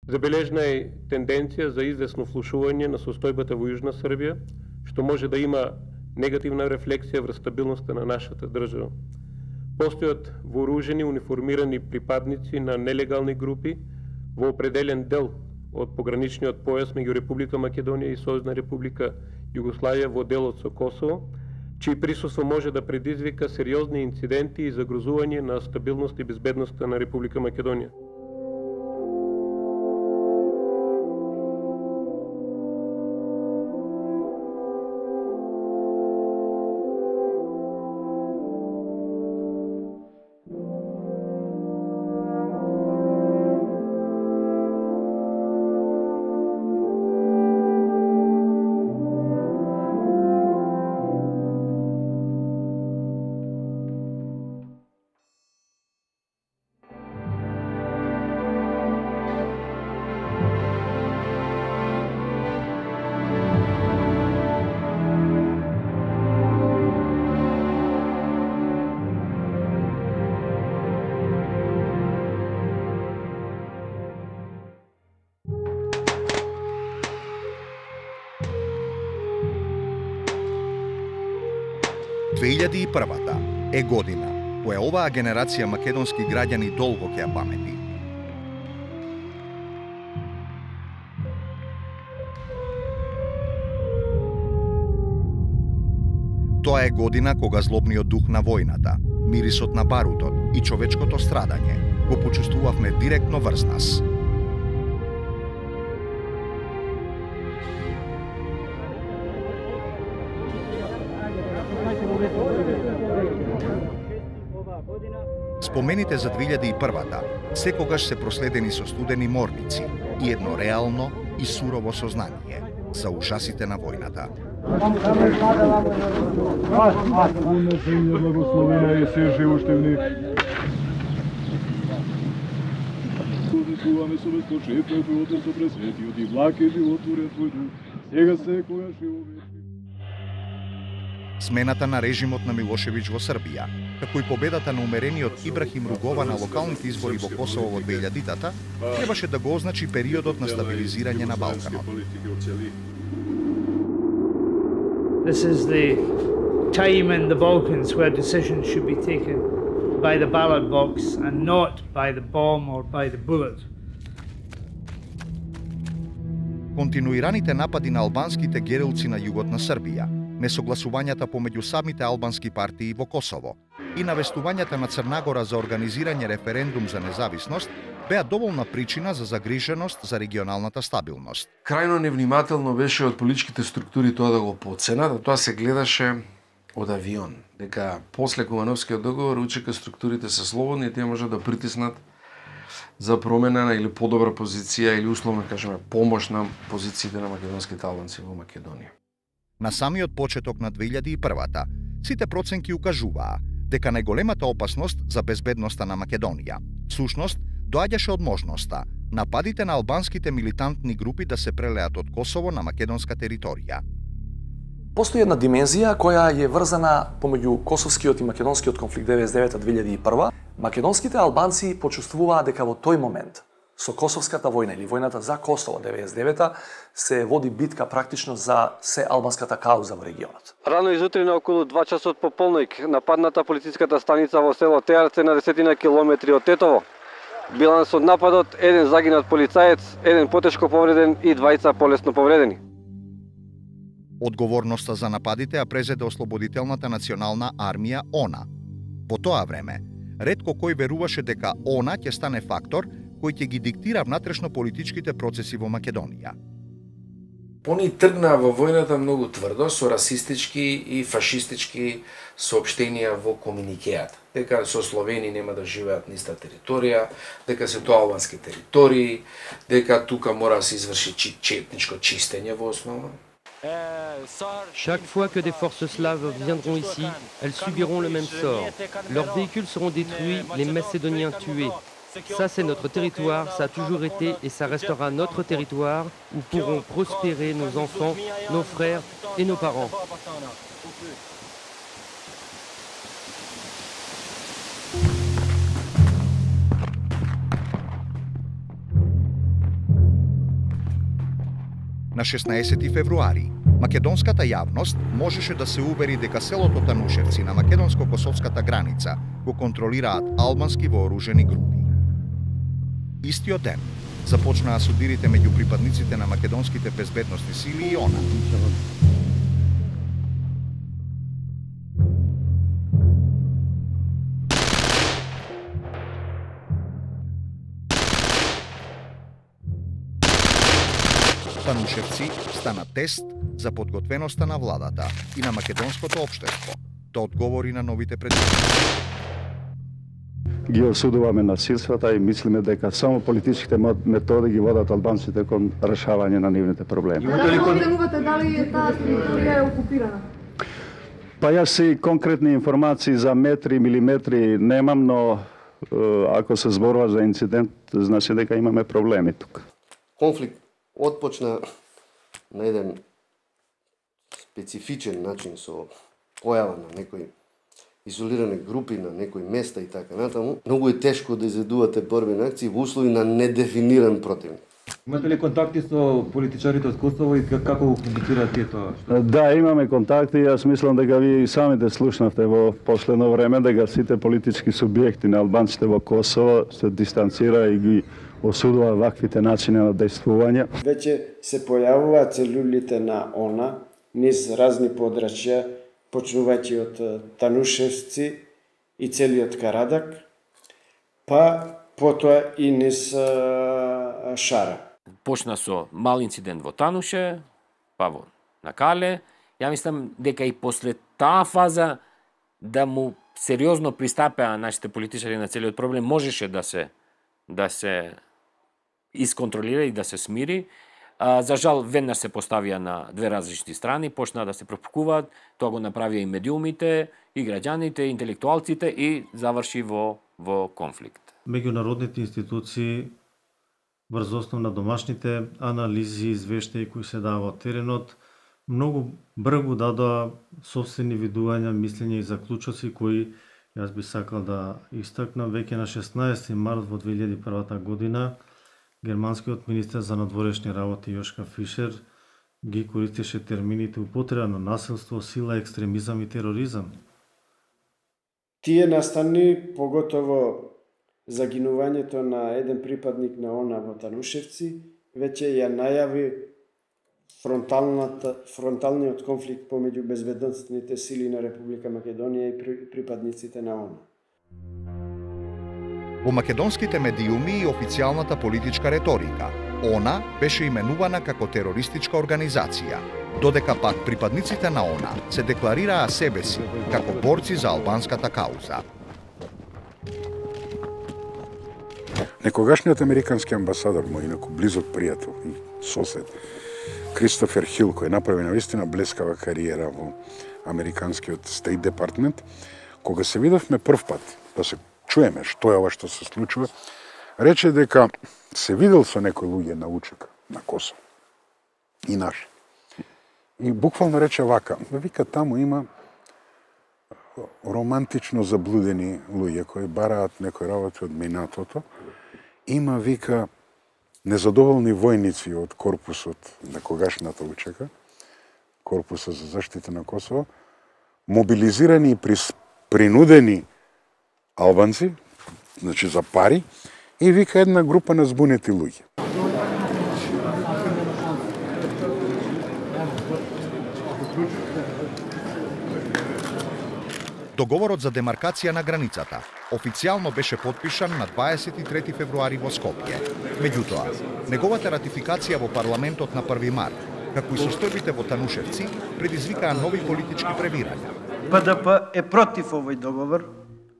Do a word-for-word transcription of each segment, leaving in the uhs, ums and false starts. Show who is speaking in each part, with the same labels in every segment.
Speaker 1: Забележна е тенденција за известно влушување на состојбата во Јужна Србија, што може да има негативна рефлексија врз стабилноста на нашата држава. Постојат вооружени, униформирани припадници на нелегални групи во определен дел од пограничниот појас меѓу Република Македонија и Сојузна Република Југославија во делот со Косово, чиј присуство може да предизвика сериозни инциденти и загрозување на стабилност и безбедноста на Република Македонија.
Speaker 2: две илјади и првата е година која оваа генерација македонски граѓани долго ќе ја памети. Тоа е година кога злобниот дух на војната, мирисот на барутот и човечкото страдање го почувствувавме директно врз нас. Спомените за две илјади и првата секогаш се проследени со студени морници и едно реално и сурово сознание за ужасите на војната.
Speaker 3: Благословена е се живоштевни. Чуваме со безпочетно животот со пресветиот и влаке животворен твој дух, сега секогаш и вовеки.
Speaker 2: Смената на режимот на Милошевиќ во Србија, како и победата на умерениот Ибрахим Ругова на локалните избори во Косово во две илјадитата, требаше да го означи периодот на стабилизирање на Балканот.
Speaker 4: This is the time in the Balkans where decisions should be taken by the ballot box and not by the bomb or by the bullet.
Speaker 2: Континуираните напади на албанските герилци на југот на Србија, несогласувањата помеѓу самите албански партии во Косово и навестувањата на Црнагора за организирање референдум за независност беа доволна причина за загриженост за регионалната стабилност.
Speaker 5: Крајно невнимателно беше од политичките структури тоа да го поценат, а тоа се гледаше од авион, дека после Кумановскиот договор УЧК структурите се слободни и тие можат да притиснат за промена или подобра позиција или условно кажеме помош на позициите на македонските албанци во Македонија.
Speaker 2: На самиот почеток на две илјади и првата, сите проценки укажуваа дека најголемата опасност за безбедноста на Македонија всушност доаѓаше од можноста нападите на албанските милитантни групи да се прелеат од Косово на македонска територија.
Speaker 6: Постои една димензија која е врзана помеѓу косовскиот и македонскиот конфликт деветдесет и девета - две илјади и прва. Македонските албанци почувствуваа дека во тој момент со Косовската војна или војната за Косово деветдесет и девета се води битка практично за се албанската кауза во регионот.
Speaker 7: Рано изутрина околу два часот по полноќ нападната полициската станица во село Теарце на десетина километри од Тетово. Биланс од нападот еден загинат полицаец, еден потешко повреден и двајца полесно повредени.
Speaker 2: Одговорноста за нападите ја презеде Ослободителната национална армија ОНА. По тоа време, ретко кој веруваше дека ОНА ќе стане фактор кој ќе ги диктира внатрешно-политичките процеси во Македонија.
Speaker 5: Они тргнаа во војната многу тврдо со расистички и фашистички соопштенија во комуникејата. Дека со Словени нема да живеат на иста територија, дека се тоа албански територии, дека тука мора да се изврши етничко чистење во основа.
Speaker 8: Chaque fois que des forces slaves viendront ici, elles subiront le même sort. Leurs véhicules seront détruits, les Macédoniens tués. Ça, c'est notre territoire, ça a toujours été et ça restera notre territoire où pourront prospérer nos enfants, nos frères et nos parents.
Speaker 2: На шеснаесети февруари, македонската јавност можеше да се увери дека селото Танушевци на македонско-косовската граница го контролираат албански вооружени групи. Истиот ден започнаа судирите меѓу припадниците на македонските безбедностни сили и ОНА. Танушевци стана тест за подготвеноста на владата и на македонското општество да одговори на новите предизвици.
Speaker 3: Ги осудуваме насилствата и мислиме дека само политичките методи ги водат албанците кон решавање на нивните проблеми.
Speaker 9: Дали оценувате дали таа територија е окупирана?
Speaker 3: Па јас и конкретни информации за метри, милиметри немам, но ако се зборува за инцидент, значи дека имаме проблеми тука.
Speaker 10: Конфликт отпочна на еден специфичен начин со појава на некои изолирани групи на некои места и така натаму. Многу е тешко да изведувате борбени акции во услови на недефиниран противник.
Speaker 11: Имате ли контакти со политичарите од Косово и како го комуницираат тие тоа?
Speaker 3: Да, имаме контакти. Јас мислам дека ви самите слушнавте во последно време дека сите политички субјекти на албанците во Косово се дистанцира и ги осудува ваквите начини на действување.
Speaker 12: Веќе се појавуваат целулите на ОНА низ разни подрачја, почнувајќи од Танушевци и целиот Карадак, па потоа и низ Шара.
Speaker 13: Почна со мал инцидент во Тануше, па во Накале. Ја мислам дека и после таа фаза да му сериозно пристапеа нашите политичари на целиот проблем можеше да се да се исконтролира и да се смири. А, за жал, веднаш се поставија на две различни страни, почнаа да се пропукуваат, тоа го направија и медиумите, и граѓаните, и интелектуалците и заврши во, во конфликт.
Speaker 14: Меѓународните институции врз основ на домашните анализи и извештаи кои се дава од теренот, многу бргу дадоа собствени видувања, мислења и заклучоци кои јас би сакал да истакнам. Веќе на шеснаесети март во две илјади и прва година германскиот министер за надворешни работи Јошка Фишер ги користеше термините употреба на насилство, сила, екстремизам и тероризам.
Speaker 12: Тие настани, поготово загинувањето на еден припадник на ОНА во Танушевци, веќе ја најави фронталниот конфликт помеѓу безбедностните сили на Република Македонија и припадниците на ОНА.
Speaker 2: Во македонските медиуми и официјалната политичка реторика, ОНА беше именувана како терористичка организација, додека пак припадниците на ОНА се декларираа себе си како борци за албанската кауза.
Speaker 15: Некогашниот американски амбасадор, мој инаку близок пријател и сосед, Кристофер Хил, кој направи навистина блескава кариера во американскиот State Department, кога се видовме прв пат да се чуеме што е ова што се случува, рече дека се видел со некои луѓе на учек на Косово и наш. И буквално рече вака, вика таму има романтично заблудени луѓе кои бараат некои работи од минатото, има, вика, незадоволни војници од корпусот на когашната учека, корпуса за заштита на Косово, мобилизирани и принудени албанци, значи за пари, и вика една група на збунети луѓе.
Speaker 2: Договорот за демаркација на границата официјално беше подпишан на дваесет и трети февруари во Скопје. Меѓутоа, неговата ратификација во парламентот на први март, како и состојбите во Танушевци, предизвикаа нови политички превирања.
Speaker 16: П Д П е против овој договор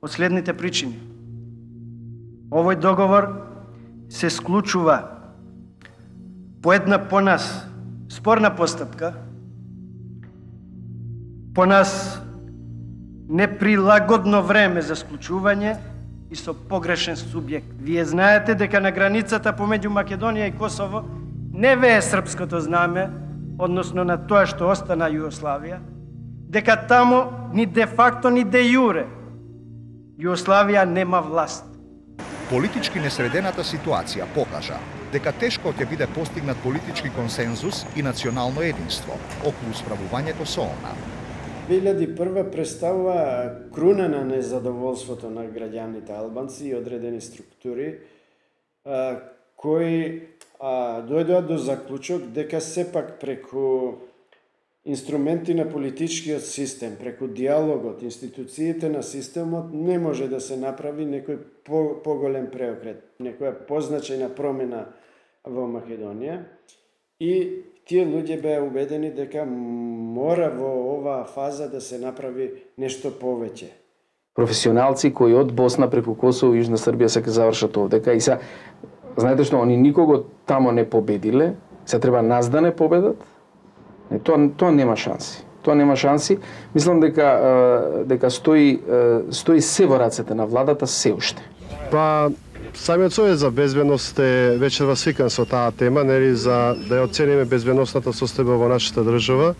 Speaker 16: од следните причини. Овој договор се склучува по една по нас спорна постапка, по нас неприлагодно време за склучување и со погрешен субјект. Вие знаете дека на границата помеѓу Македонија и Косово не вее српското знаме, односно на тоа што остана Југославија, дека таму ни де факто ни де јуре Југославија нема власт.
Speaker 2: Политички несредената ситуација покажа дека тешко ќе биде постигнат политички консензус и национално единство околу справувањето со она.
Speaker 12: две илјади и прва представува круна на незадоволството на граѓаните албанци и одредени структури а, кои а, дојдоа до заклучок дека сепак преку инструменти на политичкиот систем, преку диалогот, институциите на системот не може да се направи некој по, поголем преокрет, некоја позначајна промена во Македонија и тие луѓе беа убедени дека мора во оваа фаза да се направи нешто повеќе.
Speaker 17: Професионалци кои од Босна преку Косово и Јужна Србија се ќе завршат овдека и се знаете што они никого тамо не победиле, се треба нас да не победат. Не, тоа тоа нема шанси. Тоа нема шанси. Мислам дека дека стои стои се во рацете на владата се уште.
Speaker 18: Па самиот Совет за безбедност е вечерва свикан со таа тема, нели, за да ја оцениме безбедносната состојба во нашата држава,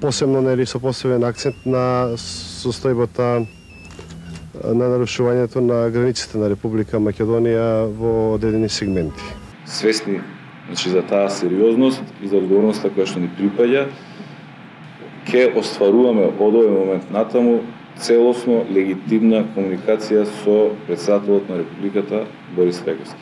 Speaker 18: посебно нели со посебен акцент на состојбата на нарушувањето на границите на Република Македонија во одредени сегменти.
Speaker 19: Свесни значи за таа сериозност и за одговорноста која што ни припаѓа, ќе остваруваме од овој момент натаму целосно легитимна комуникација со претседателот на Републиката Борис Треговски.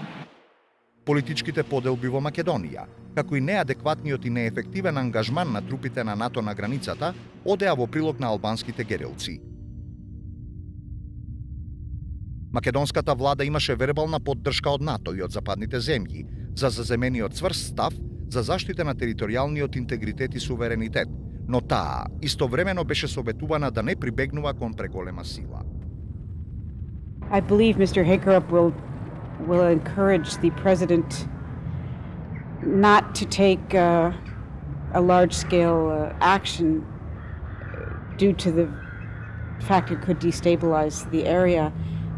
Speaker 2: Политичките поделби во Македонија, како и неадекватниот и неефективен ангажман на трупите на НАТО на границата, одеа во прилог на албанските герелци. Македонската влада имаше вербална поддршка од НАТО и од западните земји за заземениот цврст став за заштита на територијалниот интегритет и суверенитет, но таа истовремено беше советувана да не прибегнува кон преголема сила.
Speaker 20: I believe Mister Hakerup will will encourage the president not to take uh, a large-scale uh, action due to the fact it could destabilize the area,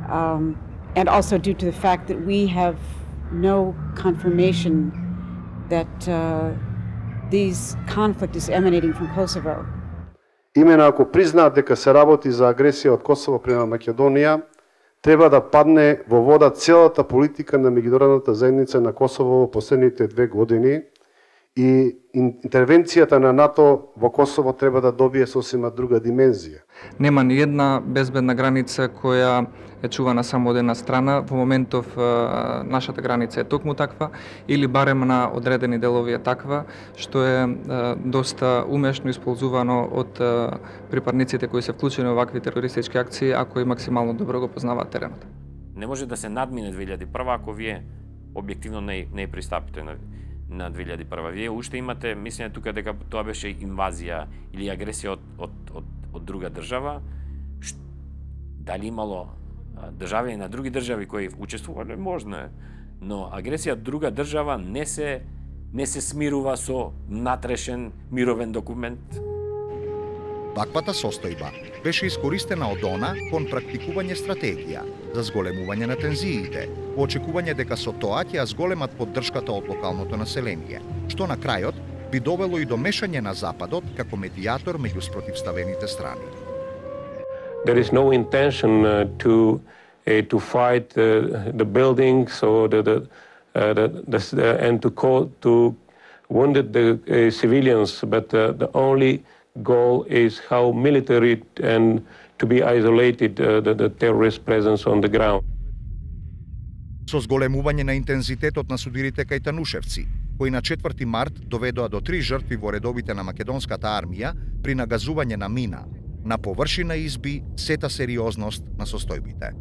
Speaker 20: um, and also due to the fact that we have no confirmation that uh, this conflict is emanating from Kosovo.
Speaker 18: Имено ако признаат дека се работи за агресија од Косово према Македонија, треба да падне во вода целата политика на меѓународната заедница на Косово во последните две години и интервенцијата на НАТО во Косово треба да добие сосема друга димензија.
Speaker 21: Нема ни една безбедна граница која е чувана само од една страна. Во моментов нашата граница е токму таква или барем на одредени делови е таква, што е доста умешно исползувано од припадниците кои се вклучени во вакви терористички акции, ако и максимално добро го познаваат теренот.
Speaker 13: Не може да се надмине две илјади и прва ако вие објективно не не пристапите на на две илјади и прва. Вие уште имате мислење тука дека тоа беше инвазија или агресија од од од, од друга држава. Ш... Дали имало држави на други држави кои учествувале, можно е, но агресија од друга држава не се не се смирува со натрешен мировен документ.
Speaker 2: Ваквата состојба беше искористена од она кон практикување стратегија за зголемување на тензиите, во очекување дека со тоа ќе ја зголемат поддршката од локалното население, што на крајот би довело и до мешање на Западот како медијатор меѓу спротивставените страни.
Speaker 1: There is no intention uh, to uh, to fight uh, the buildings or the the, uh, the, the uh, and to call to wounded the uh, civilians, but uh, the only goal is how military and to be isolated uh, the, the terrorist presence on the ground.
Speaker 2: Со зголемување на интензитетот на судирите кај Танушевци, кои на четврти март доведоа до три жртви во редовите на македонската армија при нагазување на мина, на површина изби сета сериозност на состојбите.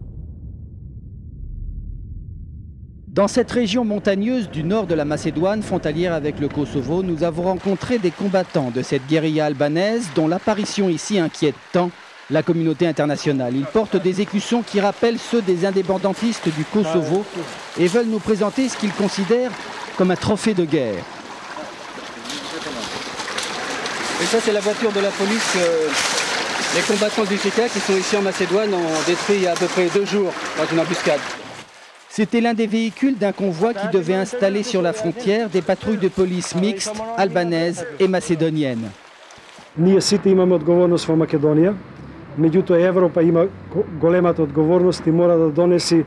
Speaker 22: Dans cette région montagneuse du nord de la Macédoine, frontalière avec le Kosovo, nous avons rencontré des combattants de cette guérilla albanaise dont l'apparition ici inquiète tant la communauté internationale. Ils portent des écussons qui rappellent ceux des indépendantistes du Kosovo et veulent nous présenter ce qu'ils considèrent comme un trophée de guerre.
Speaker 23: Et ça, c'est la voiture de la police que les combattants du C K qui sont ici en Macédoine ont détruit il y a à peu près deux jours dans une embuscade.
Speaker 22: C'était l'un des véhicules d'un convoi qui devait installer sur la frontière des patrouilles de police mixtes, albanaises et macédoniennes.
Speaker 16: Ние сите имаме одговорност во Македонија, меѓутоа Европа има големата одговорност и мора да донеси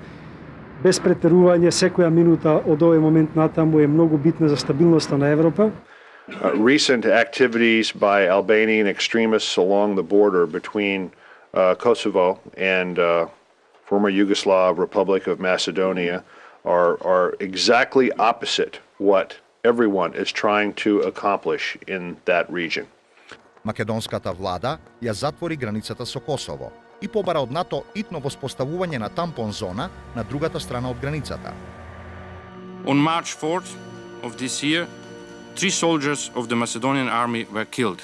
Speaker 4: без претерување, секоја минута од овој момент натаму е многу битна за стабилноста на Европа.
Speaker 6: Uh, recent activities by Albanian extremists along the border between uh, Kosovo and uh, former Yugoslav Republic of Macedonia are, are exactly opposite what everyone is trying to accomplish in that region.
Speaker 2: Македонската влада ја затвори границата со Косово и побара од НАТО итно воспоставување на тампон зона на другата страна од границата.
Speaker 7: On March fourth of this year, three soldiers of the Macedonian army were killed.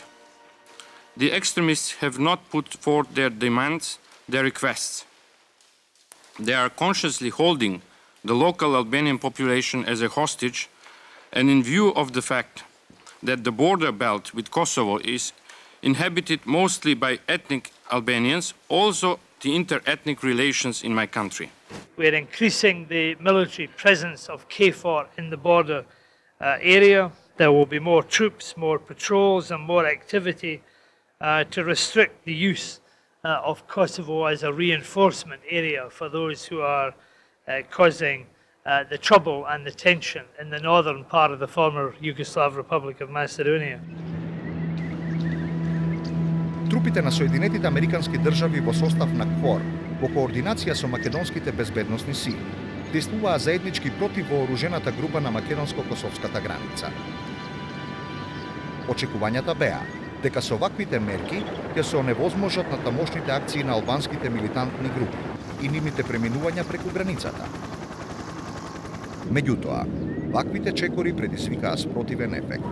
Speaker 7: The extremists have not put forth their demands, their requests. They are consciously holding the local Albanian population as a hostage, and in view of the fact that the border belt with Kosovo is inhabited mostly by ethnic Albanians, also the inter-ethnic relations in my country.
Speaker 24: We're increasing the military presence of K four in the border uh, area. There will be more troops, more patrols and more activity uh, to restrict the use uh, of Kosovo as a reinforcement area for those who are uh, causing uh, the trouble and the tension in the northern part of the former Yugoslav Republic of Macedonia.
Speaker 2: Трупите на Соединетите Американски држави во состав на КФОР, во координација со македонските безбедносни сили, действуваа заеднички против вооружената група на македонско-косовската граница. Очекувањата беа дека со ваквите мерки ќе се оневозможат на тамошните акции на албанските милитантни групи и нивните преминувања преку границата. Меѓутоа, ваквите чекори предизвикаа спротивен ефект.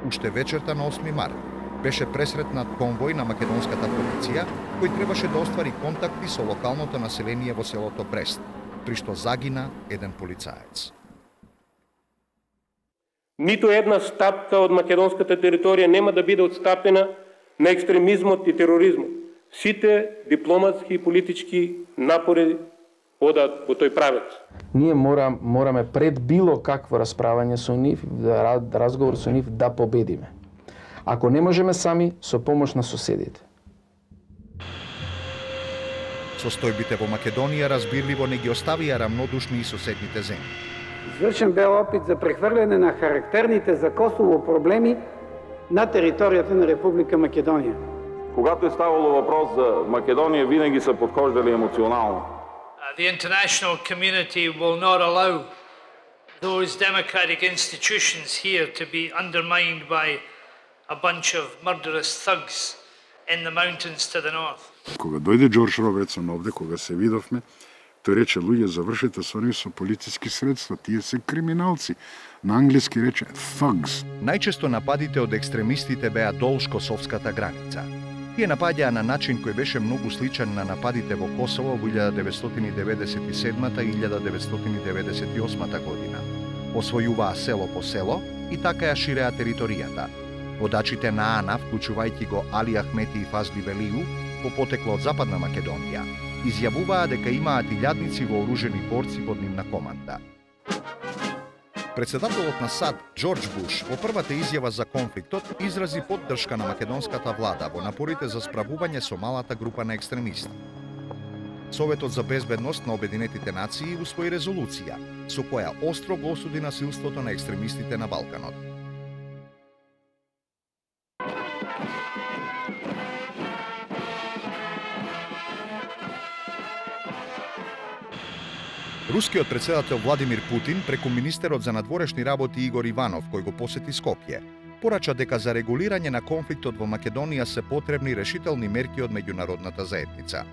Speaker 2: Уште вечерта на осми март беше пресретнат конвој на македонската полиција, кој требаше да оствари контакти со локалното население во селото Брест, при што загина еден полицаец.
Speaker 1: Ниту една стапка од македонската територија нема да биде отстапена на екстремизмот и тероризмот. Сите дипломатски и политички напори одат во тој правец.
Speaker 17: Ние мора, мораме пред било какво расправање со нив, разговор со нив, да победиме. Ако не можеме сами, со помош на соседите.
Speaker 2: Состојбите во Македонија разбирливо не ги оставија рамнодушни и соседните земји.
Speaker 25: Извршен бе опит за прехвърляне на характерните за Косово проблеми на територијата на Република Македонија.
Speaker 19: Когато е ставало въпрос за Македонија, винаги са подхождали емоционално.
Speaker 24: The international community will not allow those democratic institutions here to be undermined by a bunch of murderous thugs in the mountains to the north.
Speaker 15: Кога дојде Џорџ Робертсон овде, кога се видовме, тој рече: луѓе, завршете со нив со политички средства, тие се криминалци. На англиски рече thugs.
Speaker 2: Најчесто нападите од екстремистите беа долж косовската граница. Тие напаѓаа на начин кој беше многу сличен на нападите во Косово во илјада деветстотини деветдесет и седмата и илјада деветстотини деветдесет и осмата година. Освојуваа село по село и така ја ширеа територијата. Водачите на АНА, вклучувајќи го Али Ахмети и Фазли Велију, по потекло од Западна Македонија, изјавуваа дека имаат илјадници вооружени борци под нивна команда. Председателот на САД Џорџ Буш во првата изјава за конфликтот изрази поддршка на македонската влада во напорите за справување со малата група на екстремисти. Советот за безбедност на Обединетите нации усвои резолуција со која остро го осуди насилството на екстремистите на Балканот. Рускиот председател Владимир Путин преку министерот за надворешни работи Игор Иванов, кој го посети Скопје, порача дека за регулирање на конфликтот во Македонија се потребни решителни мерки од меѓународната заедница.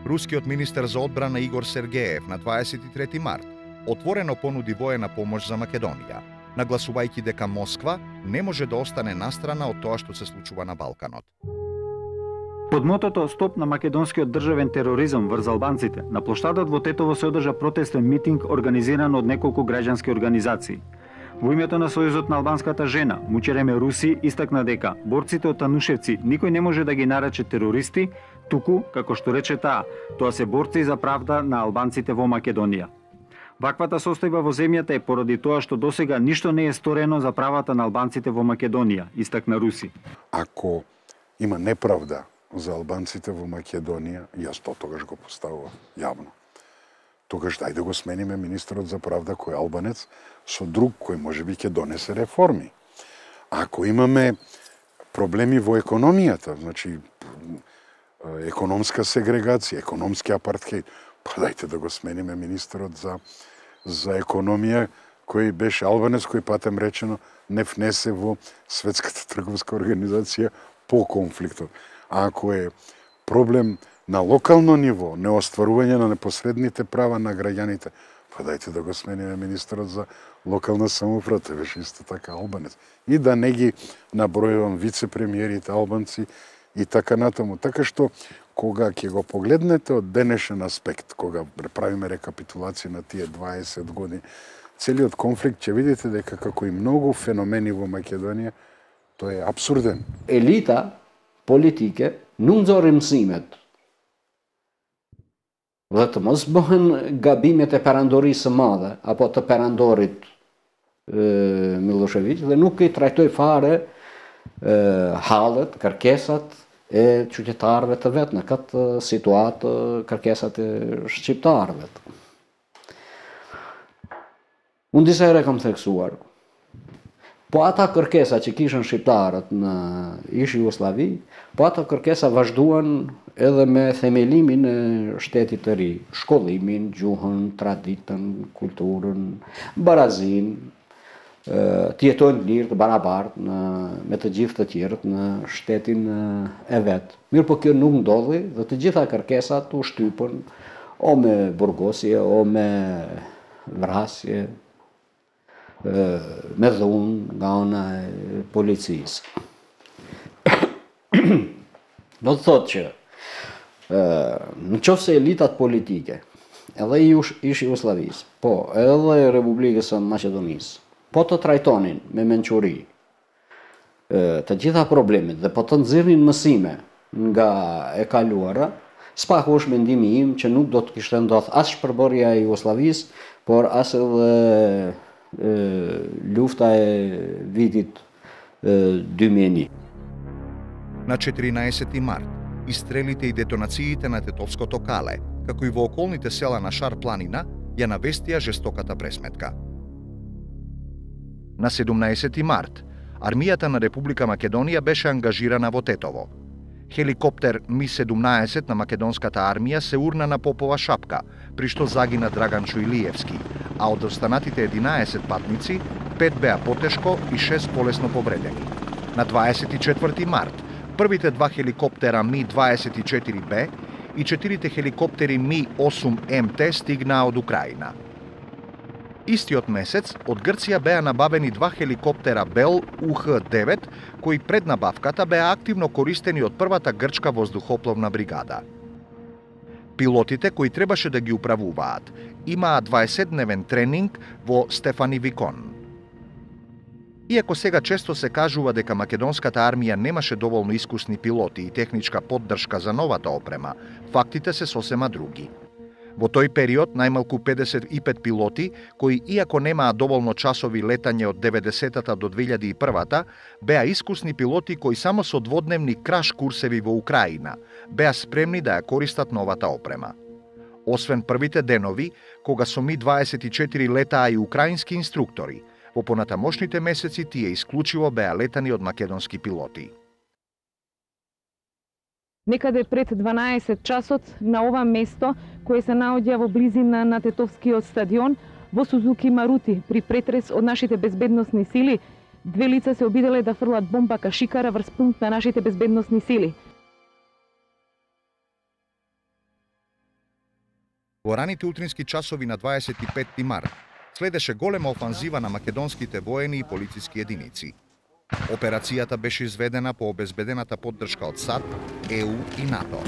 Speaker 2: Рускиот министер за одбрана Игор Сергеев на дваесет и трети март отворено понуди воена помош за Македонија, нагласувајќи дека Москва не може да остане настрана од тоа што се случува на Балканот.
Speaker 26: Под мотото "Стоп на македонскиот државен тероризам врз албанците", на плоштадот во Тетово се одржа протестен митинг организиран од неколку граѓански организации. Во името на Сојузот на албанската жена, Мучереме Руси истакна дека борците од Танушевци никој не може да ги нарече терористи, туку, како што рече таа, тоа се борци за правда на албанците во Македонија. Ваквата состојба во земјата е поради тоа што досега ништо не е сторено за правата на албанците во Македонија, истакна Руси.
Speaker 15: Ако има неправда за албанците во Македонија, јас тоа тогаш го поставувам јавно. тогаш дај да го смениме министерот за правда кој е албанец со друг кој можеби ќе донесе реформи. Ако имаме проблеми во економијата, значи економска сегрегација, економски апартхеид, па дајте да го смениме министерот за за економија кој беше албанец, кој патем речено не внесе во Светската трговска организација по конфликтот. А ако е проблем на локално ниво, неостварување на непосредните права на граѓаните, па дајте да го смениме министерот за локална самоуправа, тој беше исто така албанец. И да не ги набројувам вице-премиерите албанци и така натаму. Така што, кога ќе го погледнете од денешен аспект, кога правиме рекапитулација на тие дваесет години, целиот конфликт ќе видите дека како и многу феномени во Македонија, тој е абсурден.
Speaker 3: Елита, политике, nuk nxorri mësimet. Dhe të mos bëhen gabimet e perandorisë së madhe, apo të perandorit e, Milošević, dhe nuk i trajtoj fare e, hallet, kërkesat e qytetarëve të vetë në këtë situatë, kërkesat e shqiptarëve. Unë disa ere kam theksuar, po ata kërkesa që kishën shqiptarët në ish Jugosllavi, po ata kërkesa vazhduan edhe me themelimin e shtetit të ri, shkollimin, gjuhën, traditën, kulturën, barazin, të jetojnë lirë të barabartë me të gjithë të tjerët në shtetin e vetë. Mirë po kjo nuk ndodhi dhe të gjitha kërkesat u shtypën o me burgosje, o me vrasje, me dhunë nga ana e policisë. Do të thotë që në qoftë se elitat politike, edhe ish Jugosllavisë, po edhe Republikës së Maqedonisë, po të trajtonin me mençuri të gjitha problemet dhe po të nxirrnin mësime nga e kaluara, s'paku është mendimi im që nuk do të kishte ndodhur as shpërbërja e Jugosllavisë, por as edhe lufta e vitit dy mijë e një.
Speaker 2: На четиринаесети март, истрелите и детонациите на Тетовското кале, како и во околните села на Шар планина, ја навестија жестоката пресметка. На седумнаесети март, армијата на Република Македонија беше ангажирана во Тетово. Хеликоптер Ми седумнаесет на македонската армија се урна на Попова шапка, при што загина Драган Чуилиевски, а од останатите единаесет патници, пет беа потешко и шест полесно повредени. На дваесет и четврти март, првите два хеликоптера Ми дваесет и четири Б и четирите хеликоптери Ми осум М Т стигнаа од Украина. Истиот месец, од Грција беа набавени два хеликоптера Бел У Х девет, кои пред набавката беа активно користени од првата грчка воздухопловна бригада. Пилотите кои требаше да ги управуваат, имаа дваесетдневен тренинг во Стефанивикон. Иако сега често се кажува дека македонската армија немаше доволно искусни пилоти и техничка поддршка за новата опрема, фактите се сосема други. Во тој период најмалку педесет и пет пилоти, кои иако немаа доволно часови летање од деветдесетата до две илјади и првата, беа искусни пилоти кои само со дводневни краш курсеви во Украина беа спремни да ја користат новата опрема. Освен првите денови, кога со Ми дваесет и четири летаа и украински инструктори, во понатамошните месеци тие исклучиво беа летани од македонски пилоти.
Speaker 5: Некаде пред дванаесет часот на ова место, кое се наоѓа во близина на Тетовскиот стадион, во Сузуки Марути, при претрес од нашите безбедносни сили, две лица се обиделе да фрлат бомба кашикара врз пункт на нашите безбедносни сили.
Speaker 2: Во раните утрински часови на дваесет и петти март следеше голема офанзива на македонските воени и полициски единици. Операцијата беше изведена по обезбедената поддршка од САД, Е У и НАТО.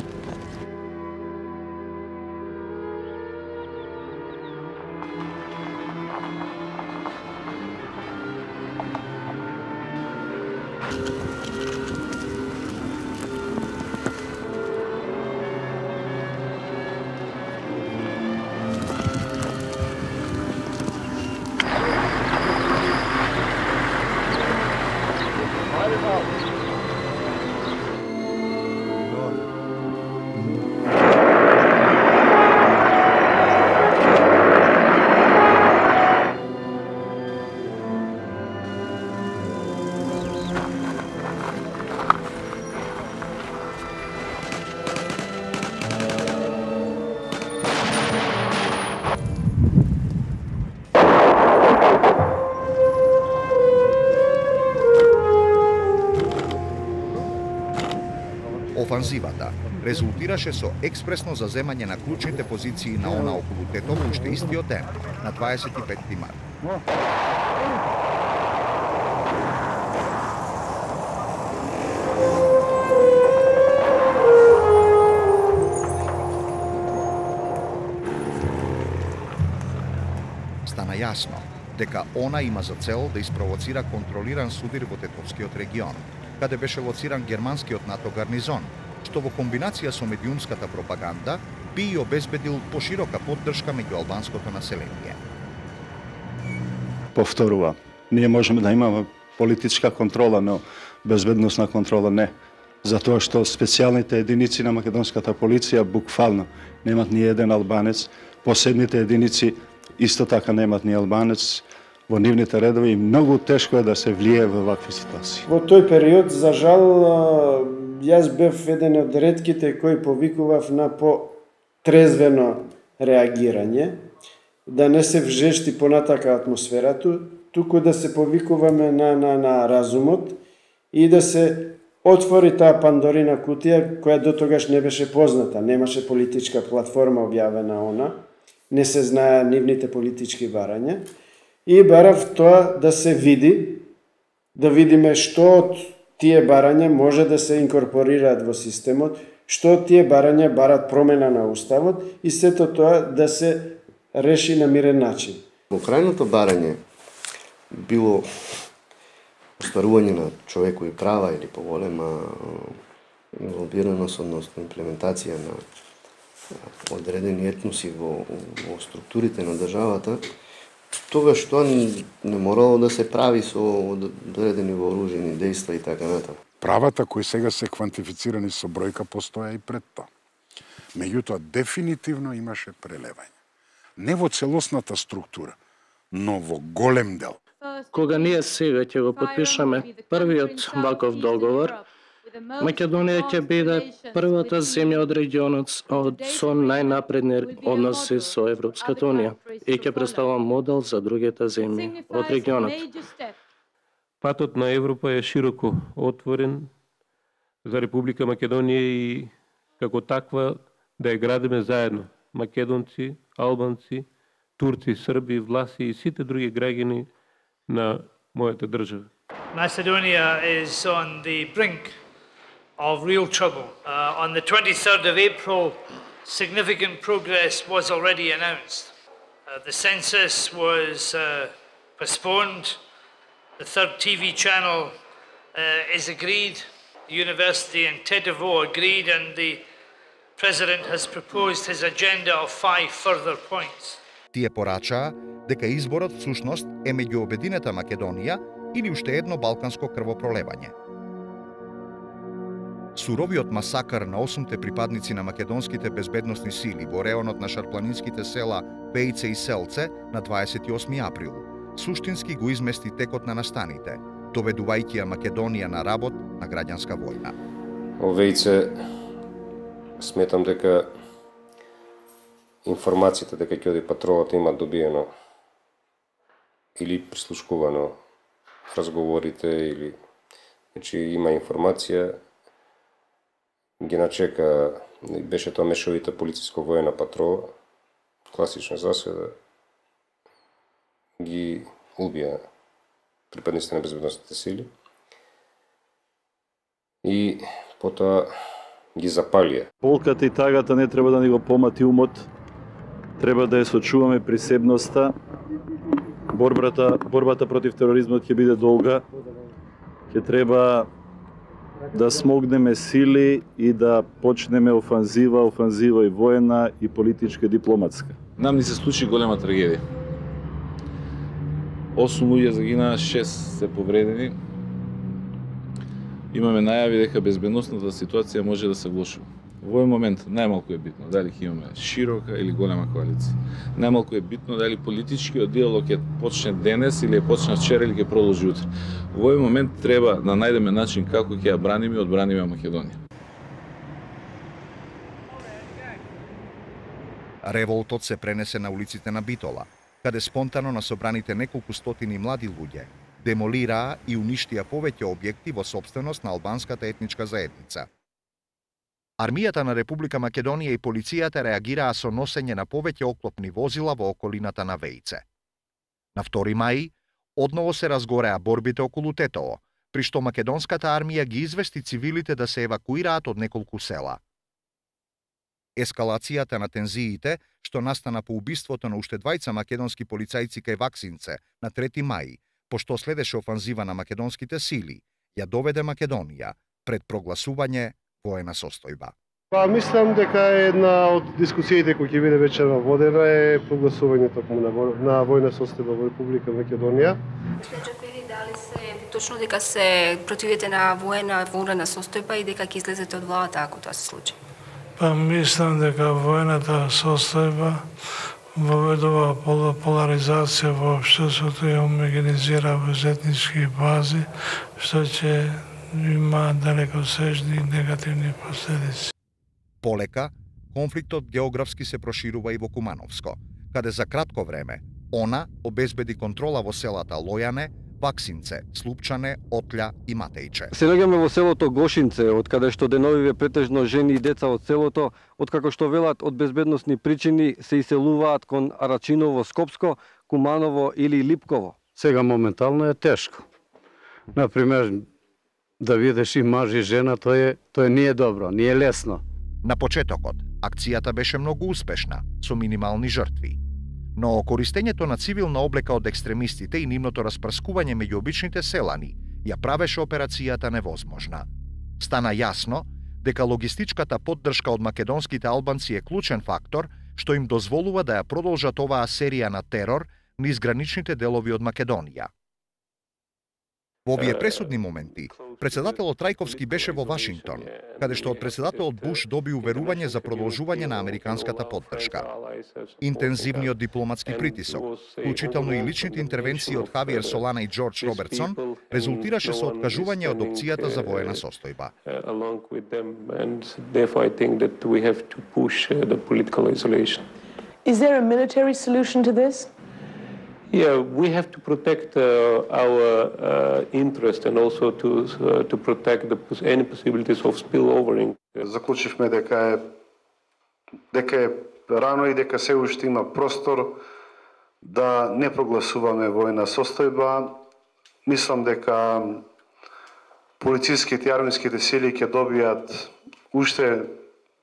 Speaker 2: Офанзивата резултираше со експресно заземање на клучните позиции на она околу Тетово уште истиот ден, на дваесет и петти март. Стана јасно дека она има за цел да испровоцира контролиран судир во Тетовскиот регион, каде беше лоциран германскиот НАТО гарнизон, што во комбинација со медиумската пропаганда би и обезбедил поширока поддршка меѓу албанското население.
Speaker 8: Повторува, ние можеме да имаме политичка контрола, но безбедносна контрола не. Затоа што специјалните единици на македонската полиција буквално немат ни еден албанец, посебните единици исто така немат ни албанец во нивните редови и многу тешко е да се влие во вакви ситуации.
Speaker 16: Во тој период, за жал, јас бев еден од ретките кои повикував на по-трезвено реагирање, да не се вжешти понатака атмосферата, туку да се повикуваме на, на, на разумот и да се отвори таа Пандорина кутија која до тогаш не беше позната, немаше политичка платформа објавена она, не се знае нивните политички барања и барав тоа да се види, да видиме што од тие барања може да се инкорпорираат во системот, што од тие барања барат промена на уставот и сето тоа да се реши на мирен начин.
Speaker 9: Во крајното барање било остварување на човекови права или поголема инволвираност, односно имплементација на одредени етноси во, во структурите на државата, тогаш тоа не морало да се прави со одредени вооружени дејства и така натаму.
Speaker 15: Правата кои сега се квантифицирани со бројка постоја и пред тоа. Меѓутоа, дефинитивно имаше прелевање. Не во целосната структура, но во голем дел.
Speaker 10: Кога ние сега ќе го подпишеме првиот ваков договор, Македонија ќе биде првата земја од регионот со најнапредни односи со Европската унија и ќе представува модел за другите земји од регионот.
Speaker 1: Патот на Европа е широко отворен за Република Македонија и како таква да ја градиме заедно. Македонци, албанци, турци, срби, власи и сите други граѓани на мојата држава.
Speaker 24: Macedonia is on the brink of real trouble. Uh, on the twenty-third of April, significant progress was already announced. Uh, the census was uh, postponed. The third T V channel uh, is agreed. The university in Tetovo agreed, and the President has proposed his agenda of five further points.
Speaker 2: Тие порачаа дека изборот всушност е меѓу обединета Македонија или уште едно балканско крвопролевање. Суровиот масакар на осумте припадници на македонските безбедносни сили во реонот на шарпланинските села Пејце и Селце на дваесет и осми април суштински го измести текот на настаните, доведувајќи ја Македонија на работ на граѓанска војна.
Speaker 11: Овејце сметам дека информацијата дека ќе оди патролата има добиено или прислушкувано разговорите или значи има информација, ги начека, беше тоа мешовита полициско-воена патрола, класична заседа, ги убија припадниците на безбедносните сили и потоа ги запалија.
Speaker 26: Болката и тагата не треба да ни го помати умот, треба да ја сочуваме присебноста. Борбата, борбата против тероризмот ќе биде долга. Ќе треба да смогнеме сили и да почнеме офанзива, офанзива и воена и политичка и дипломатска.
Speaker 12: Нам ни се случи голема трагедија. осум луѓе загинаа, шест се повредени. Имаме најави дека безбедносната ситуација може да се влошува. Во овој момент најмалку е битно дали ќе имаме широка или голема коалиција. Најмалку е битно дали политичкиот диалог ќе почне денес или ќе почне вчера или ќе продолжи утре. Во овој момент треба да најдеме начин како ќе ја браниме и одбраниме Македонија.
Speaker 2: Револтот се пренесе на улиците на Битола, каде спонтано на собраните неколку стотини млади луѓе демолираа и уништија повеќе објекти во сопственост на албанската етничка заедница. Армијата на Република Македонија и полицијата реагираа со носење на повеќе оклопни возила во околината на Вејце. На втори мај, одново се разгореа борбите околу Тетово, при што македонската армија ги извести цивилите да се евакуираат од неколку села. Ескалацијата на тензиите, што настана по убиството на уште двајца македонски полицајци кај Ваксинце на трети мај, пошто следеше офанзива на македонските сили, ја доведе Македонија пред прогласување воена состојба.
Speaker 13: Па мислам дека една од дискусиите кои ќе биде вечерва водена е прогласување токму на, на воена состојба во Република Македонија.
Speaker 14: Дали се точно дека се противите на воена воена состојба и дека ќе излезете од владата ако тоа се случи?
Speaker 18: Па мислам дека воената состојба воведува поларизација во општеството и омогенизира во етнички бази, што ќе има далекосежни негативни последици.
Speaker 2: Полека, конфликтот географски се проширува и во Кумановско, каде за кратко време она обезбеди контрола во селата Лојане, Ваксинце, Слупчане, Отља и Матејче.
Speaker 20: Се наоѓаме во селото Гошинце, од каде што деновиве претежно жени и деца од селото, откако што велат од безбедносни причини се иселуваат кон Арачиново, Скопско, Куманово или Липково.
Speaker 21: Сега моментално е тешко. Например, да видиш и маж и жена, тоа е, тоа не е добро, не е лесно.
Speaker 2: На почетокот, акцијата беше многу успешна, со минимални жртви. Но користењето на цивилна облека од екстремистите и нивното распрскување меѓу обичните селани ја правеше операцијата невозможна. Стана јасно дека логистичката поддршка од македонските албанци е клучен фактор што им дозволува да ја продолжат оваа серија на терор низ граничните делови од Македонија. Во овие пресудни моменти, председателот Трајковски беше во Вашингтон, каде што од председателот Буш доби уверување за продолжување на американската поддршка. Интензивниот дипломатски притисок, вклучително и личните интервенции од Хавиер Солана и Џорџ Робертсон, резултираше со откажување од опцијата за воена состојба.
Speaker 23: Is there a military solution to this?
Speaker 1: Yeah, we have to protect uh, our uh, interest and also to uh, to protect the, any possibilities of spillovering.
Speaker 13: Заклучивме дека е дека е рано и дека се уште има простор да не прогласуваме воена состојба. Мислам дека полициските и армиските сили ќе добијат уште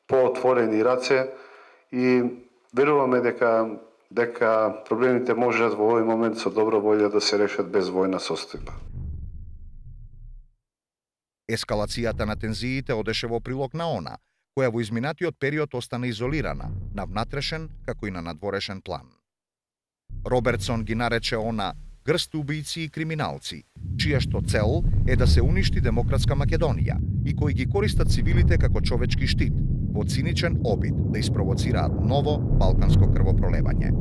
Speaker 13: поотворени раце и веруваме дека дека проблемите можат во овој момент со добра волја да се решат без војна состојба.
Speaker 2: Ескалацијата на тензиите одеше во прилог на она, која во изминатиот период остана изолирана, на внатрешен како и на надворешен план. Робертсон ги нарече она грст убијци и криминалци, чија што цел е да се уништи демократска Македонија и кои ги користат цивилите како човечки штит, во циничен обид да испровоцираат ново балканско крвопролевање.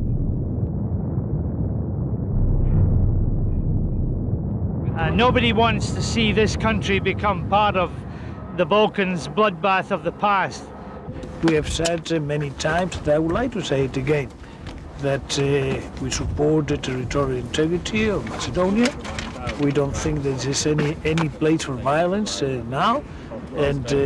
Speaker 24: Uh, nobody wants to see this country become part of the Balkans bloodbath of the past.
Speaker 18: We have said uh, many times, and I would like to say it again, that uh, we support the territorial integrity of Macedonia. We don't think there is any, any place for violence uh, now. And uh,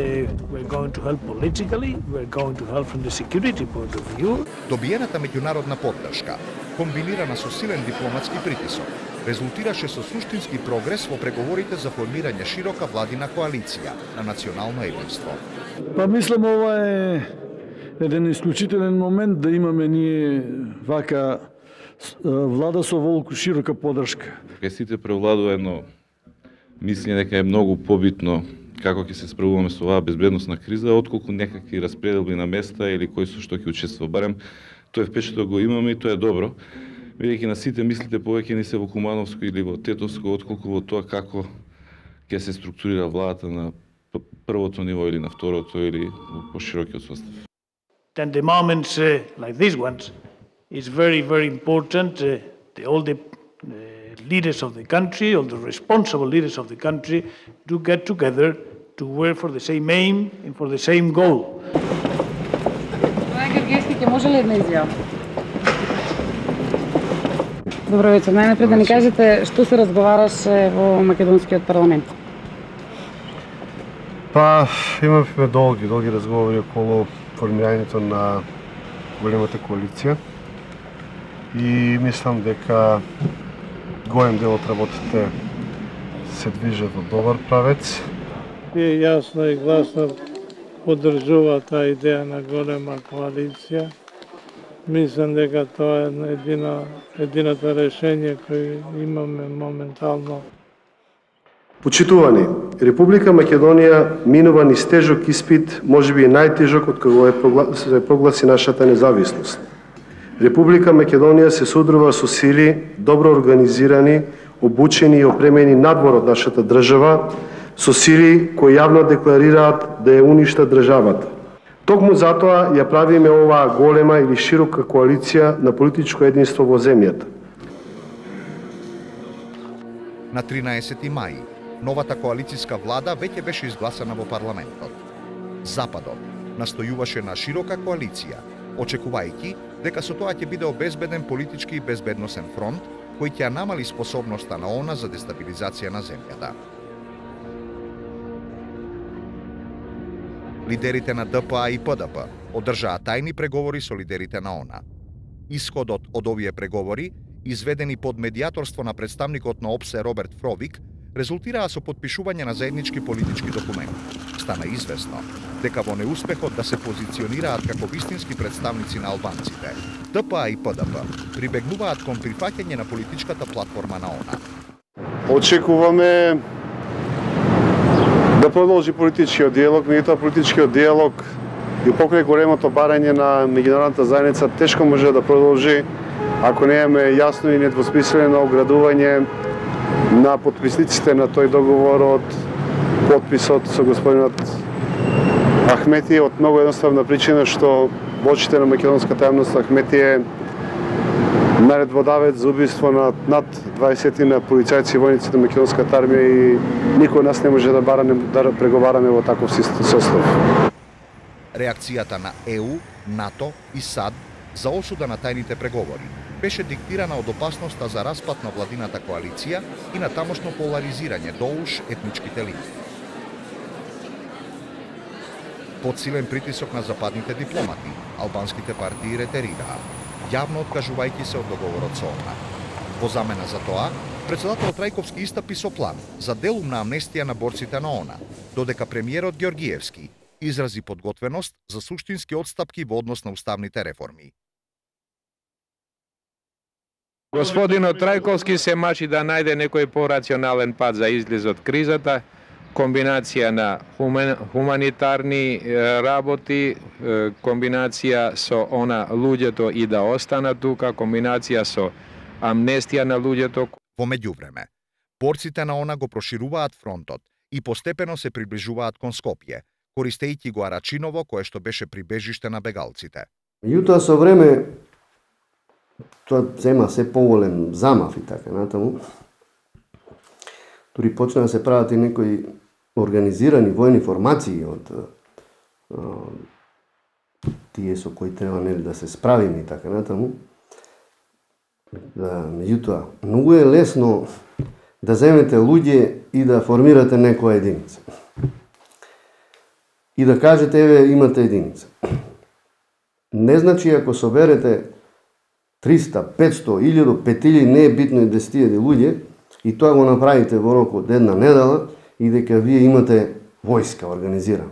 Speaker 18: we're going to help politically, we're going to help from the security point of view.
Speaker 2: Добиената меѓународна поддршка, комбинирана со силен дипломатски притисок, резултираше со суштински прогрес во преговорите за формирање широка владина коалиција на национално единство.
Speaker 21: Па мислам ова е еден исклучителен момент да имаме ние вака влада со волку широка поддршка.
Speaker 12: Кај сите превладува едно мислење дека е многу побитно како ќе се справуваме со оваа безбедносна криза, отколку некакви распределби на места или кој со што ќе учествува. Барем тој впечаток го имаме и тоа е добро, бидејќи на сите мислите повеќе ни се во Кумановско или во Тетовско, отколку во тоа како ќе се структурира владата на првото ниво или на второто или во поширокиот состав.
Speaker 18: And the moments uh, like these ones is very, very important. Uh, the, all the uh, leaders of the country, all the responsible leaders of the country do get together to work for the same aim and for the same goal.
Speaker 23: Тоа Георгиевски ќе може ли една изјава? Добро вечер. Најнапред да ни кажете што се разговараше во македонскиот парламент.
Speaker 13: Па, имавме долги, долги разговори околу формирањето на големата коалиција и мислам дека голем дел од работите се движат во добар правец.
Speaker 4: И јасно и гласно поддржува таа идеја на голема коалиција. Мислам дека тоа е едина, едината решение кој имаме моментално.
Speaker 13: Почитувани, Република Македонија минува низ тежок испит, можеби и најтежок од кога се прогласи нашата независност. Република Македонија се содрува со сили, добро организирани, обучени и опремени надвор од нашата држава, со сили кои јавно декларираат да ја уништат државата. Токму затоа ја правиме оваа голема или широка коалиција на политичко единство во земјата.
Speaker 2: На тринаесети мај, новата коалицијска влада веќе беше изгласана во парламентот. Западот настојуваше на широка коалиција, очекувајќи дека со тоа ќе биде обезбеден политички и безбедносен фронт кој ќе намали способноста на ООН за дестабилизација на земјата. Лидерите на Д П А и П Д П одржаа тајни преговори со лидерите на ООН. Исходот од овие преговори, изведени под медијаторство на представникот на О П С Е Роберт Фровик, резултираа со подпишување на заеднички политички документи. Стана известно дека во неуспехот да се позиционираат како вистински представници на албанците, Д П А и П Д П прибегнуваат кон прифаќање на политичката платформа на ООН.
Speaker 13: Очекуваме да продолжи политичкиот диалог, меѓутоа политичкиот диалог и покрај големото барање на меѓународната заедница тешко може да продолжи ако немаме јасно и недвосмислено оградување на подписниците на тој договор од подписот со господинот Ахмети од многу едноставна причина што во очите на македонската јавност Ахмети е наредбодавец за убиство на над дваесет на полицајци и војници на македонската армија и никој од нас не може да бараме да преговараме во таков состав.
Speaker 2: Реакцијата на Е У, НАТО и САД за осуда на тајните преговори беше диктирана од опасноста за распад на владината коалиција и на тамошно поларизирање доуж етничките линии. Подсилен притисок на западните дипломати, албанските партии ретерираа, јавно откажувајќи се од договорот со ООН. Во замена за тоа, председателот Трајковски истапи со план за делумна амнестија на борците на ООН, додека премиерот Ѓоргиевски изрази подготвеност за суштински отстапки во однос на уставните реформи.
Speaker 6: Господинот Трајковски се мачи да најде некој порационален пат за излез од кризата, комбинација на хумен, хуманитарни работи, комбинација со она луѓето и да останат тука, комбинација со амнестија на луѓето.
Speaker 2: Во меѓувреме, борците на ООН го прошируваат фронтот и постепено се приближуваат кон Скопје, користејќи го Арачиново, кое што беше прибежиште на бегалците.
Speaker 9: Меѓутоа со време тоа зема се поголем замав и така натаму. Дури почна да се прават и некои организирани војни формации од а, тие со кои треба нели да се справиме и така натаму. Да, меѓутоа, многу е лесно да земете луѓе и да формирате некоја единица. И да кажете, еве, имате единица. Не значи ако соберете триста, петсто, илјаду, пет илјади, не е битно и десет илјади луѓе, и тоа го направите во рок од една недела, и дека вие имате војска организирана.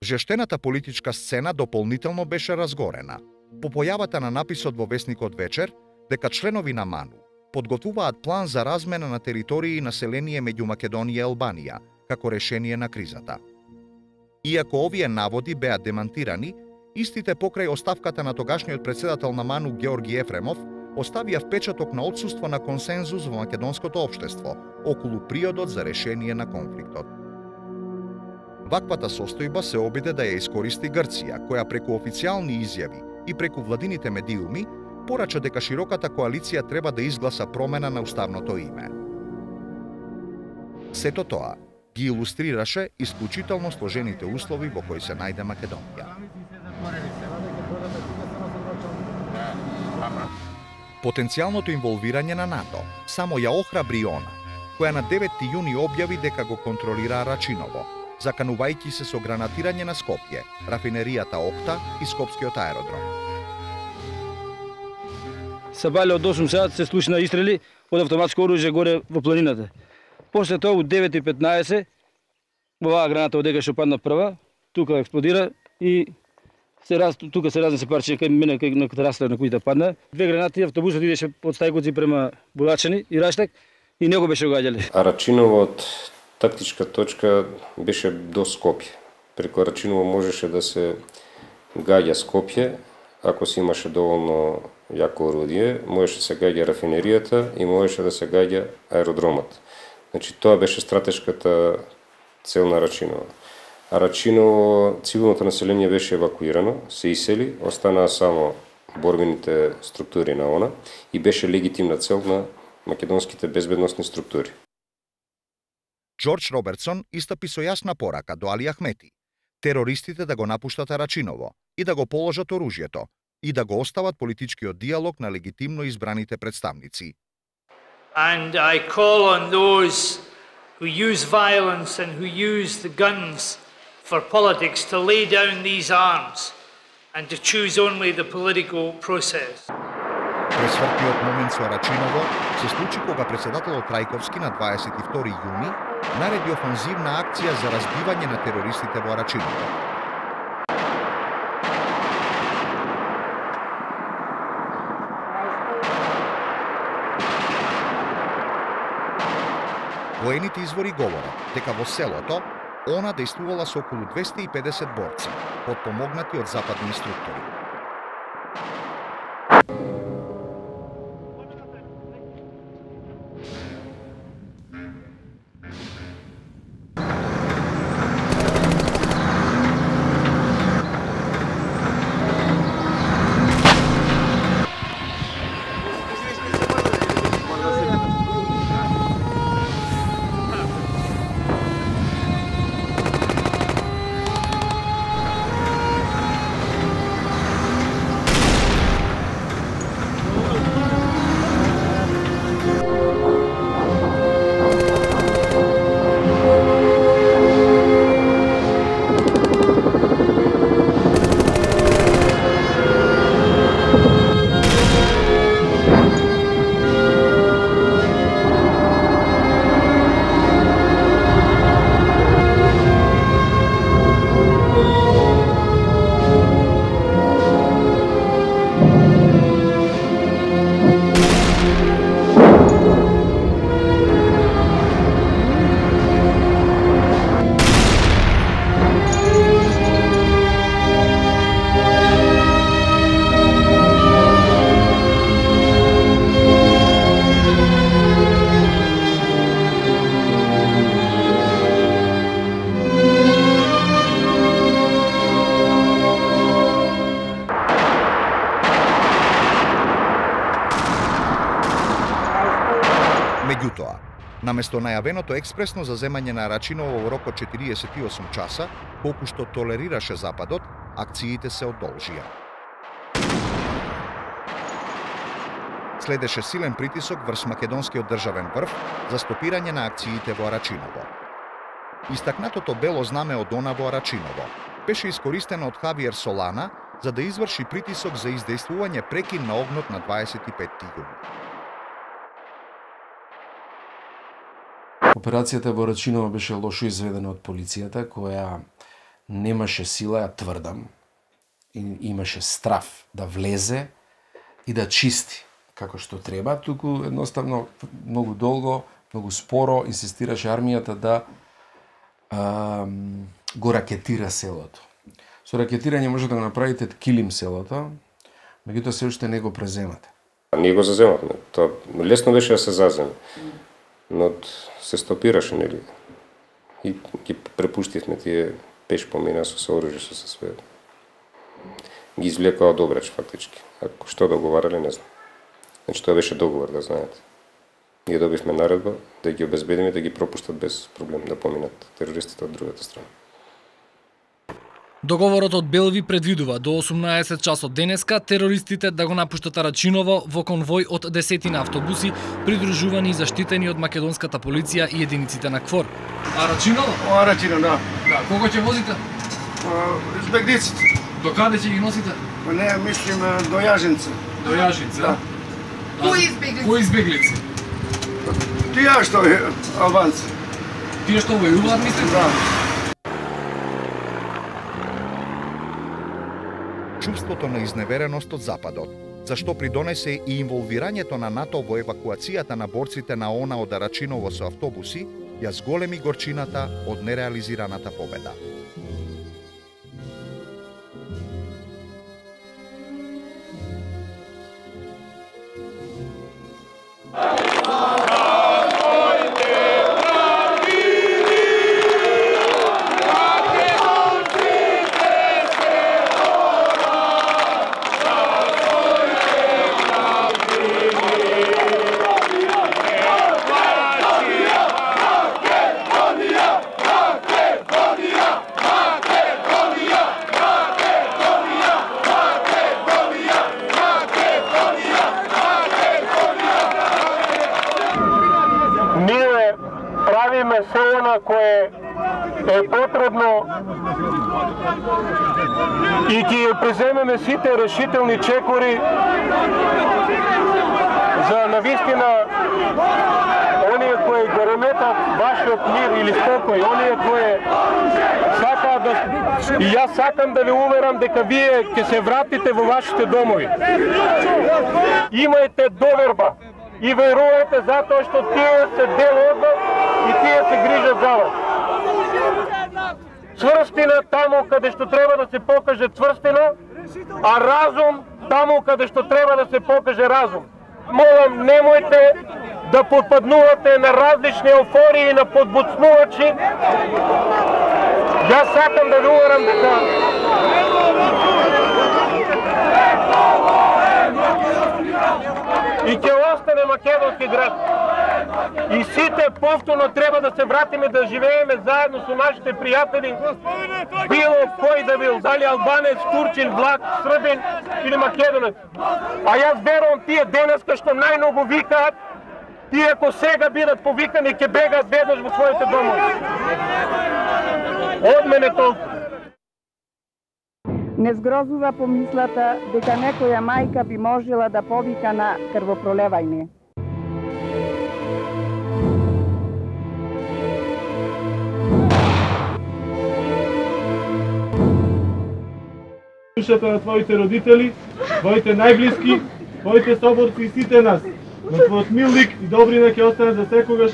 Speaker 2: Жештената политичка сцена дополнително беше разгорена. По појавата на написот во весникот Вечер, дека членови на МАНУ подготвуваат план за размена на територии и население меѓу Македонија и Албанија, како решение на кризата. Иако овие наводи беа демантирани, истите покрај оставката на тогашниот председател на МАНУ Георги Ефремов оставија впечаток на отсуство на консензус во македонското општество околу приодот за решение на конфликтот. Ваквата состојба се обиде да ја искористи Грција, која преку официјални изјави и преку владините медиуми порача дека широката коалиција треба да изгласа промена на уставното име. Сето тоа ги илустрираше исклучително сложените услови во кои се најде Македонија. Потенцијалното инволвирање на НАТО само ја охрабри она, која на деветти јуни објави дека го контролира Арачиново, заканувајќи се со гранатирање на Скопје, рафинеријата Охта и Скопскиот аеродром.
Speaker 3: Сабале од осум сати се слушна истрели од автоматско оружје горе во планината. После тоа у девет и петнаесет оваа граната одека што падна прва, тука експлодира и се раз тука се разнесе парче кај мене кај на терасата на кујата падна. Две гранати, автобусот идеше од Стајковци према Булачани и Раштак и него беше угаѓале.
Speaker 11: Арачиново од тактичка точка беше до Скопје. Преку Арачиново можеше да се гаѓа Скопје, ако се имаше доволно јако орудие, можеше да се гаѓа рафинеријата и можеше да се гаѓа аеродромот. Значи тоа беше стратешката цел на Арачиново. Арачиново, цивилното население беше евакуирано, се исели, останаа само борбените структури на ОНА и беше легитимна цел на македонските безбедносни структури.
Speaker 2: Џорџ Робертсон истапи со јасна порака до Али Ахмети, терористите да го напуштат Арачиново и да го положат оружјето и да го остават политичкиот диалог на легитимно избраните представници.
Speaker 24: And I call on those who use violence and who use the guns for politics to lay down these arms and to choose only the political process.
Speaker 2: Пресвртиот момент со Арачиново се случи кога председателот Трајковски на дваесет и втори јуни нареди офанзивна акција за разбивање на терористите во Арачиново. Воените извори говорат дека во селото ОНА дејствувала со околу двесте и педесет борци, подпомогнати од западни инструктори. Меѓутоа, наместо најавеното експресно заземање на Арачиново во рок од четириесет и осум часа, колку што толерираше Западот, акциите се одолжија. Следеше силен притисок врз македонскиот државен врв за стопирање на акциите во Арачиново. Истакнатото бело знаме од ОНА во Арачиново беше искористено од Хавиер Солана за да изврши притисок за издејствување прекин на огнот на дваесет и петти јуни.
Speaker 7: Операцијата во Арачиново беше лошо изведена од полицијата, која немаше сила, ја тврдам, и имаше страф да влезе и да чисти како што треба, туку едноставно многу долго, многу споро инсистираше армијата да а, го ракетира селото. Со ракетирање може да го направите килим селото, меѓутоа се уште не го преземате.
Speaker 11: Ние го заземавме, тоа лесно беше да се заземе, но се стопираше, нели? И ги препуштивме тие пеш помина со сооружје, со се све. Ги извлекаа од обрач, фактички. Ако што договарале, не знам. Значи, тоа беше договор, да знаете. Ние добивме наредба да ги обезбедиме, да ги пропуштат без проблем да поминат терористите од другата страна.
Speaker 5: Договорот од Белви предвидува до осумнаесет часот денеска терористите да го напуштат Арачиново во конвој од десетина автобуси, придружувани и заштитени од македонската полиција и единиците на КФОР. Арачиново?
Speaker 8: Арачино, да.
Speaker 5: Да, кого ќе возите?
Speaker 8: Избегниците.
Speaker 5: До каде ќе ги носите?
Speaker 8: Не, мислим до Јажинце.
Speaker 5: До Јажинце, да?
Speaker 8: Кои избеглици?
Speaker 5: Кои избеглици?
Speaker 8: Тие што албанци.
Speaker 5: Тие што војуваат, мислите?
Speaker 8: Да.
Speaker 2: Чувството на изневереност од Западот, зашто придонесе и инволвирањето на НАТО во евакуацијата на борците на ОНА од Арачиново со автобуси, ја зголеми горчината од нереализираната победа.
Speaker 1: Кое е потребно и ќе ја преземеме сите решителни чекори за навистина оние кои го реметат вашиот мир или спокој, оние кои сакаат да... И јас сакам да ви уверам дека вие ќе се вратите во вашите домови. Имајте доверба и верувајте затоа што тие се дел од вас и тие се грижат за вас. Цврстина таму каде што треба да се покаже цврстина, а разум таму каде што треба да се покаже разум. Молам, немојте да подпаднувате на различни еуфории и на подбуцнувачи. Јас сакам да ви уверам дека и ќе остане македонски град. И сите повторно треба да се вратиме да живееме заедно со нашите пријатели, било кој да бил, дали албанец, турчин, влак, србин или македонец. А јас верувам тие денеска што најмногу викаат, тие ако сега бидат повикани ќе бегаат веднаш во своите домови. Од мене толку.
Speaker 17: Не згрозува помислата дека некоја мајка би можела да повика на крвопролевање.
Speaker 4: Душата на твоите родители, твоите најблиски, твоите соборци и сите нас. На твојот мил лик и добрина ќе остане за секогаш.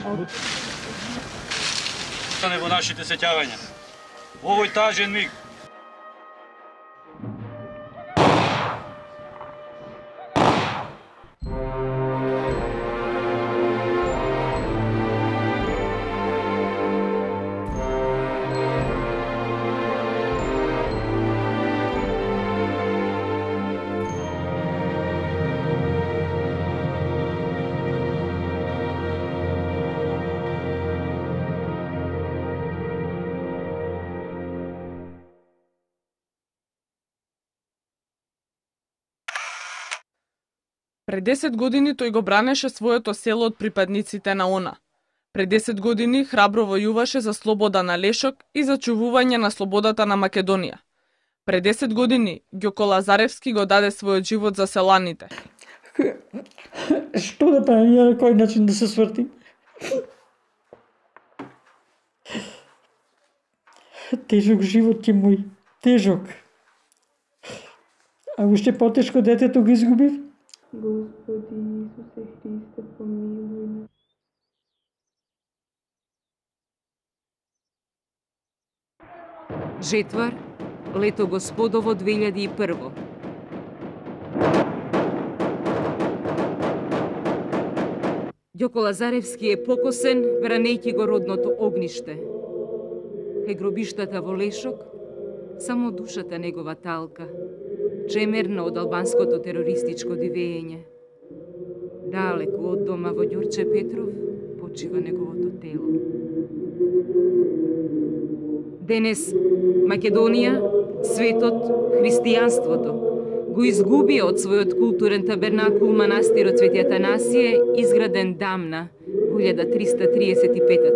Speaker 3: Остане во нашите сеќавања. Овој тажен миг.
Speaker 19: Пред десет години тој го бранеше своето село од припадниците на ОНА. Пред десет години храбро војуваше за слобода на Лешок и за чувување на слободата на Македонија. Пред десет години Ѓоко Лазаревски го даде својот живот за селаните.
Speaker 22: Што да правим, ја на кој начин да се свртим? Тежок живот ќе мој, тежок. А уште потешко детето го изгубив.
Speaker 25: Господи Исусе Христе, помилуј ме.
Speaker 27: Жетвар, лето Господово две илјади и прво. Ѓоко Лазаревски е покосен, бранејќи го родното огниште. Кај гробиштата во Лешок, само душата негова талка, чемерна од албанското терористичко дивење. Далеку од дома во Ѓурче Петров почива неговото тело. Денес Македонија Светот, христијанството, го изгуби од својот културен табернакул манастирот Свети Атанасије, изграден дамна во илјада триста триесет и пета.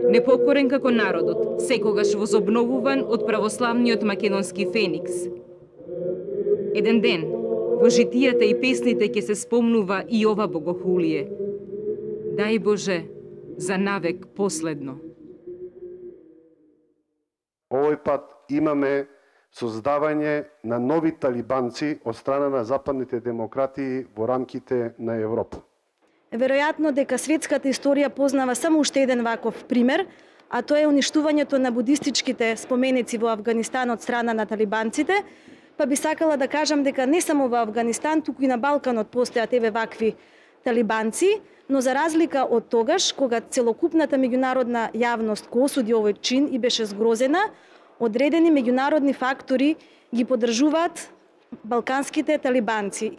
Speaker 27: Непокорен како народот, секогаш возобновуван од православниот македонски феникс. Еден ден, во житијата и песните ќе се спомнува и ова богохулие. Дај Боже, за навек последно.
Speaker 13: Овој пат имаме создавање на нови талибанци од страна на западните демократии во рамките на Европа.
Speaker 10: Веројатно дека светската историја познава само уште еден ваков пример, а тоа е уништувањето на будистичките споменици во Авганистан од страна на талибанците, па би сакала да кажам дека не само во Авганистан, туку и на Балканот постојат еве вакви талибанци, но за разлика од тогаш, кога целокупната меѓународна јавност го осуди овој чин и беше згрозена, одредени меѓународни фактори ги поддржуваат балканските талибанци.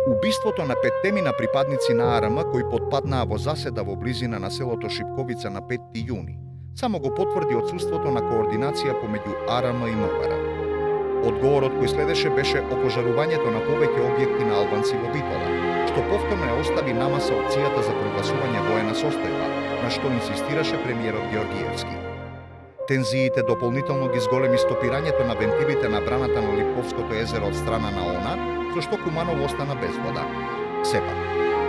Speaker 2: Убиството на петтемина припадници на АРМ кои потпаднаа во заседа во близина на селото Шипковица на петти јуни, само го потврди отсуството на координација помеѓу АРМ и МВР. Одговорот кој следеше беше опожарувањето на повеќе објекти на албанци во Битола, што повторно ја остави намаса опцијата за прогласување воена состојба, на што инсистираше премиерот Георгиевски. Тензиите дополнително ги зголеми стопирањето на вентилите на браната на Липковското езеро од страна на ОНА, со што Куманово остана без вода. Сепак,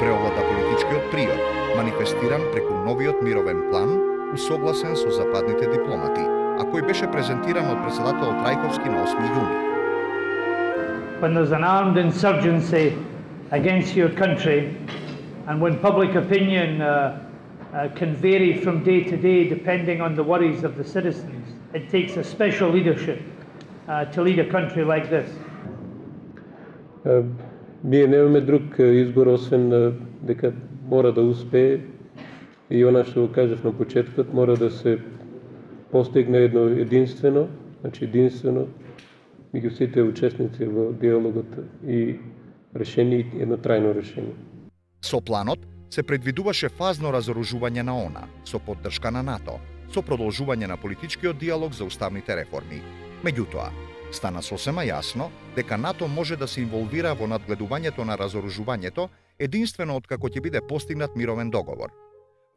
Speaker 2: преовлада политичкиот приод, манифестиран преку новиот мировен план, усогласен со западните дипломати, а кој беше презентиран од председателот Трајковски на осми јуни.
Speaker 24: When there's an armed insurgency against your country, and when public opinion uh, uh, can vary from day to day depending on the worries of the citizens, it takes a special leadership uh, to lead a country like this.
Speaker 1: Ние немаме друг избор, освен дека мора да успее и она што го кажав на почетокот, мора да се постигне едно единствено, значи единствено меѓу сите учесници во диалогот и решение, едно трајно решение.
Speaker 2: Со планот се предвидуваше фазно разоружување на ОНА, со поддршка на НАТО, со продолжување на политичкиот диалог за уставните реформи. Меѓутоа, стана сосема јасно дека НАТО може да се инволвира во надгледувањето на разоружувањето единствено откако ќе биде постигнат мировен договор.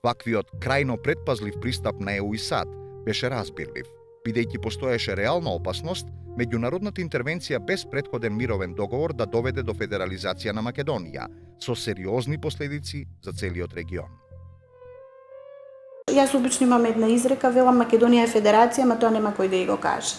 Speaker 2: Ваквиот крајно предпазлив пристап на ЕУ и САД беше разбирлив, бидејќи постоеше реална опасност меѓународната интервенција без претходен мировен договор да доведе до федерализација на Македонија, со сериозни последици за целиот регион.
Speaker 14: Јас обично имам една изрека, велам Македонија е федерација, ама тоа нема кој да ја го каже.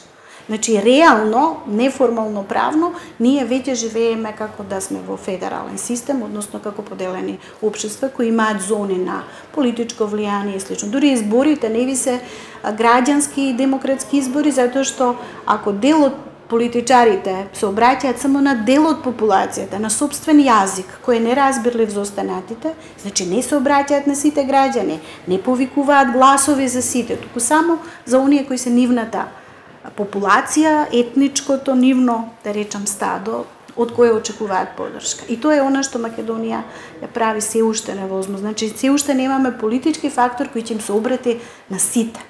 Speaker 14: Значи, реално, неформално правно, ние веќе живееме како да сме во федерален систем, односно како поделени општества кои имаат зони на политичко влијание и слично. Дури изборите не ви се граѓански и демократски избори, затоа што ако дел од политичарите се обраќаат само на дел од популацијата, на собствен јазик, кој е неразбирлив за останатите, значи не се обраќаат на сите граѓани, не повикуваат гласови за сите, туку само за оние кои се нивната популација, етничкото, нивно, да речам, стадо, од кое очекуваат поддршка. И тоа е она што Македонија ја прави се уште невозможно. Значи, се уште немаме политички фактор кој ќе им се обрати на сите.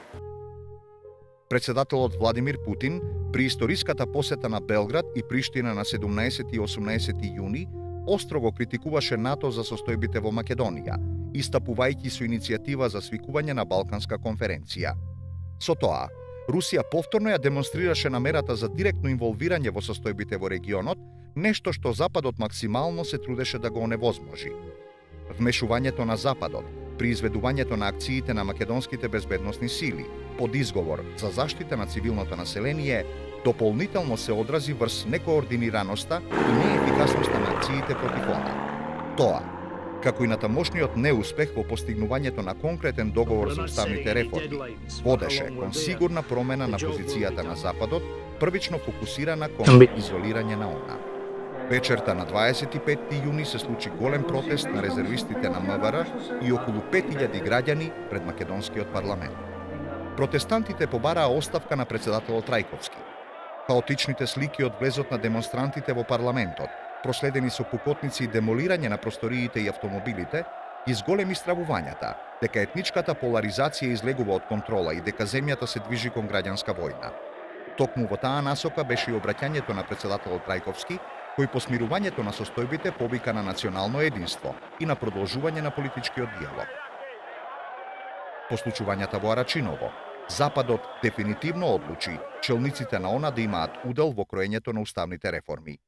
Speaker 2: Председателот Владимир Путин при историската посета на Белград и Приштина на седумнаесети и осумнаесети јуни остро го критикуваше НАТО за состојбите во Македонија, истапувајќи со иницијатива за свикување на Балканска конференција. Со тоа, Русија повторно ја демонстрираше намерата за директно инволвирање во состојбите во регионот, нешто што Западот максимално се трудеше да го оневозможи. Вмешувањето на Западот при изведувањето на акциите на македонските безбедносни сили под изговор за заштита на цивилното население дополнително се одрази врз некоординираноста и неефикасноста на акциите против ОНА. Тоа, како и на тамошниот неуспех во постигнувањето на конкретен договор за уставните реформи, водеше кон сигурна промена на позицијата на Западот, првично фокусирана кон изолирање на ОНА. Вечерта на дваесет и петти јуни се случи голем протест на резервистите на МВР и околу пет илјади граѓани пред македонскиот парламент. Протестантите побараа оставка на председателот Трајковски. Хаотичните слики од влезот на демонстрантите во парламентот, проследени со пукотници и демолирање на просториите и автомобилите, ги зголеми стравувањата дека етничката поларизација излегува од контрола и дека земјата се движи кон граѓанска војна. Токму во таа насока беше и обраќањето на председателот Трајковски, кој по смирувањето на состојбите повика на национално единство и на продолжување на политичкиот диалог. По случувањата во Арачиново, Западот дефинитивно одлучи челниците на ОНА да имаат удел во кроењето на уставните реформи.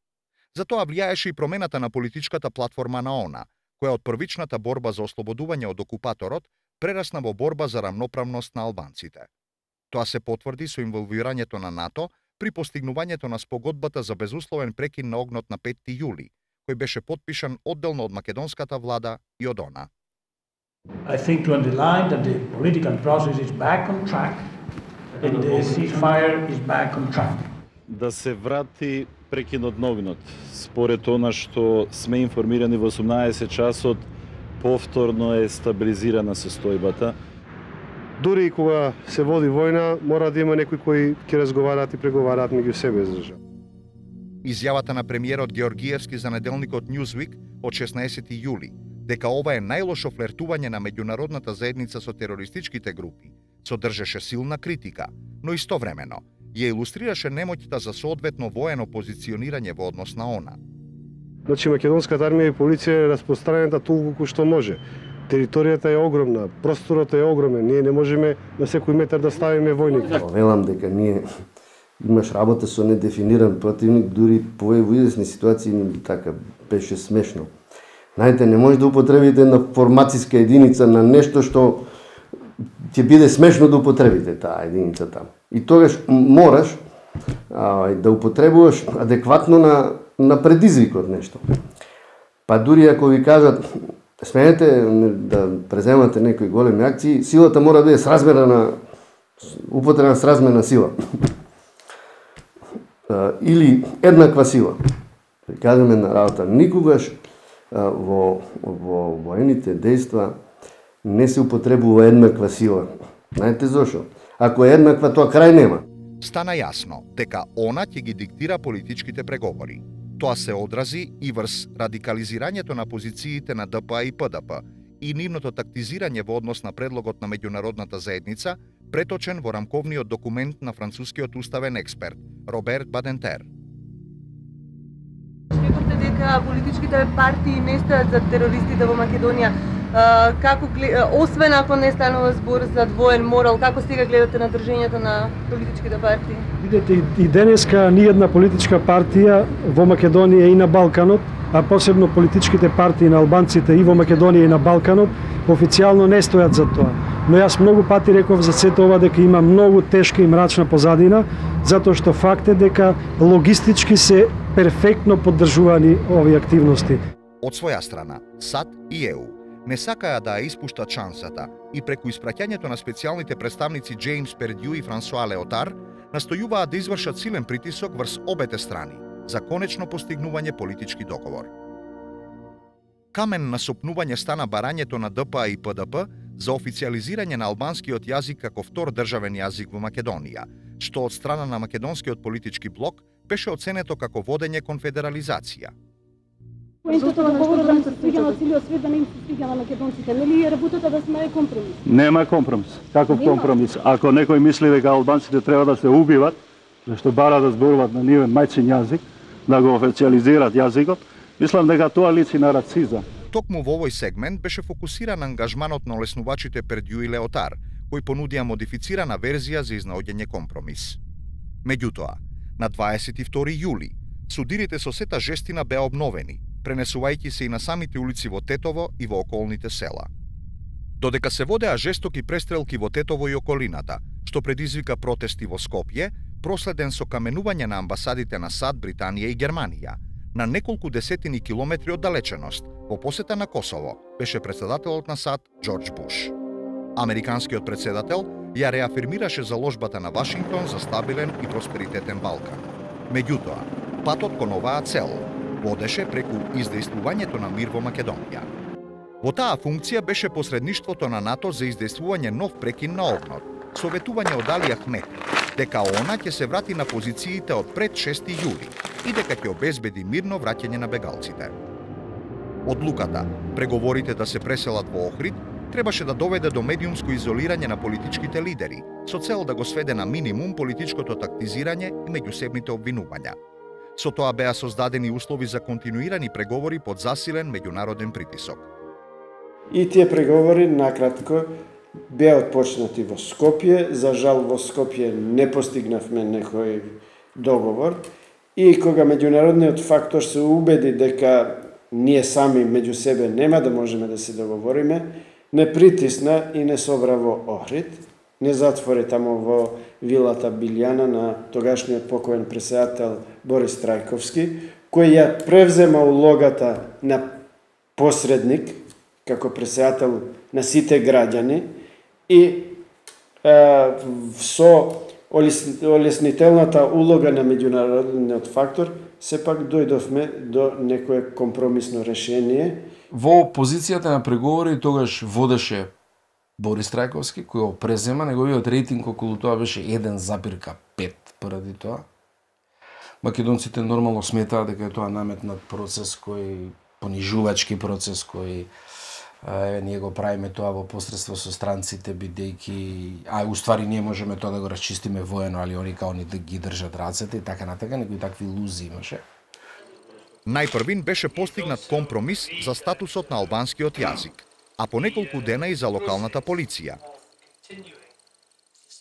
Speaker 2: Затоа влијаеше и промената на политичката платформа на ОНА, која од првичната борба за ослободување од окупаторот прерасна во борба за рамноправност на албанците. Тоа се потврди со инволвирањето на НАТО при постигнувањето на спогодбата за безусловен прекин на огнот на петти јули, кој беше потпишан одделно од македонската влада и од ОНА.
Speaker 12: I think to underline that the political process is back on track and the ceasefire is back on track.
Speaker 15: Да се врати прекинот на огнот. Според она што сме информирани во осумнаесет часот, повторно е стабилизирана состојбата.
Speaker 13: Дури и кога се води војна, мора да има некои кои ќе разговараат и преговараат меѓу себе за држава.
Speaker 2: Изјавата на премиерот Георгиевски за неделникот Newsweek од шеснаесети јули, дека ова е најлошо флертување на меѓународната заедница со терористичките групи, содржеше силна критика, но истовремено ја илустрираше немоќта за соодветно воено позиционирање во однос на ОНА.
Speaker 13: Значи, македонската армија и полиција е распространета толку што може. Територијата е огромна, просторот е огромен, ние не можеме на секој метар да ставиме војник.
Speaker 9: Велам дека ние имаш работа со недефиниран противник, дури по во известни ситуации така беше смешно. Знаете, не може да употребите на формацијска единица на нешто што ќе биде смешно да употребите таа единица таму. И тогаш мораш а, да употребуваш адекватно на, на предизвикот нешто. Па дури ако ви кажат сменете да преземате некои големи акции, силата мора да биде сразмерна на употреба сразмерна сила. А, или еднаква сила. Кажеме на работа, никогаш а, во, во воените дејства не се употребува еднаква сила. Знаете зошто? Ако е еднаква, тоа крај нема.
Speaker 2: Стана јасно дека ОНА ќе ги диктира политичките преговори. Тоа се одрази и врз радикализирањето на позициите на Д П А и П Д П и нивното тактизирање во однос на предлогот на меѓународната заедница, преточен во рамковниот документ на францускиот уставен експерт Роберт Бадентер.
Speaker 16: Рекавте дека политичките партии не стојат за терористите во Македонија. Uh, како, освен ако не станува збор за двоен морал, како сега гледате на држењето на политичките партии?
Speaker 12: Видете, и денеска ни една политичка партија во Македонија и на Балканот, а посебно политичките партии на албанците и во Македонија и на Балканот, официјално не стојат за тоа. Но јас многу пати реков за сето ова дека има многу тешка и мрачна позадина, затоа што факт е дека логистички се перфектно поддржувани овие активности.
Speaker 2: Од своја страна, САД и Е У не сакаа да ја испуштат шансата и преку испраќањето на специјалните представници Джеймс Пердју и Франсуа Леотар настојуваат да извршат силен притисок врз обете страни за конечно постигнување политички договор. Камен на сопнување стана барањето на Д П А и П Д П за официјализирање на албанскиот јазик како втор државен јазик во Македонија, што од страна на македонскиот политички блок беше оценето како водење кон федерализација.
Speaker 18: Поентата на говорот да не се свиѓа на целиот свет, да не им се свиѓа на македонците, нели е работата да сме компромис?
Speaker 15: Нема компромис. Каков Нема. компромис? Ако некој мисли дека албанците треба да се убиват, зашто бара да зборуваат на нивен мајчин јазик, да го официјализираат јазикот, мислам дека тоа личи на рацизам.
Speaker 2: Токму во овој сегмент беше фокусиран ангажманот на олеснувачите Пердју и Леотар, кои понудија модифицирана верзија за изнаоѓање компромис. Меѓутоа, на дваесет и втори јули, судирите со сета жестина беа обновени, пренесувајќи се и на самите улици во Тетово и во околните села. Додека се водеа жестоки престрелки во Тетово и околината, што предизвика протести во Скопје, проследен со каменување на амбасадите на САД, Британија и Германија, на неколку десетини километри оддалеченост, во посета на Косово, беше председателот на САД Џорџ Буш. Американскиот председател ја реафирмираше заложбата на Вашингтон за стабилен и просперитетен Балкан. Меѓутоа, патот кон оваа цел водеше преку издејствувањето на мир во Македонија. Во таа функција беше посредништвото на НАТО за издејствување нов прекин на огнот, советување од Али Ахмет, дека ОНА ќе се врати на позициите од пред шести јули и дека ќе обезбеди мирно враќање на бегалците. Одлуката, преговорите да се преселат во Охрид, требаше да доведе до медиумско изолирање на политичките лидери, со цел да го сведе на минимум политичкото тактизирање и меѓусебните обвинувања. Со тоа беа создадени услови за континуирани преговори под засилен меѓународен притисок.
Speaker 6: И тие преговори, накратко, беа отпочнати во Скопје. За жал, во Скопје не постигнавме некој договор. И кога меѓународниот фактор се убеди дека ние сами меѓу себе нема да можеме да се договориме, не притисна и не собра во Охрид, не затвори тамо во вилата Билјана на тогашниот покоен претседател Борис Трајковски, кој ја превзема улогата на посредник, како претседател на сите граѓани, и е, со олеснителната улога на меѓународниот фактор, сепак дојдовме до некое компромисно решение.
Speaker 7: Во позицијата на преговори тогаш водеше Борис Трајковски, кој го презема, неговиот рейтинг околу тоа беше еден запирка пет поради тоа. Македонците нормално сметаат дека е тоа наметнат процес кој понижувачки процес кој Е, ние го правиме тоа во посредство со странците, бидејќи, а уствари ние можеме тоа да го расчистиме воено, али они као ни да ги држат рацете и така натака, некои такви илузии имаше.
Speaker 2: Најпрвин беше постигнат компромис за статусот на албанскиот јазик, а по неколку дена и за локалната полиција.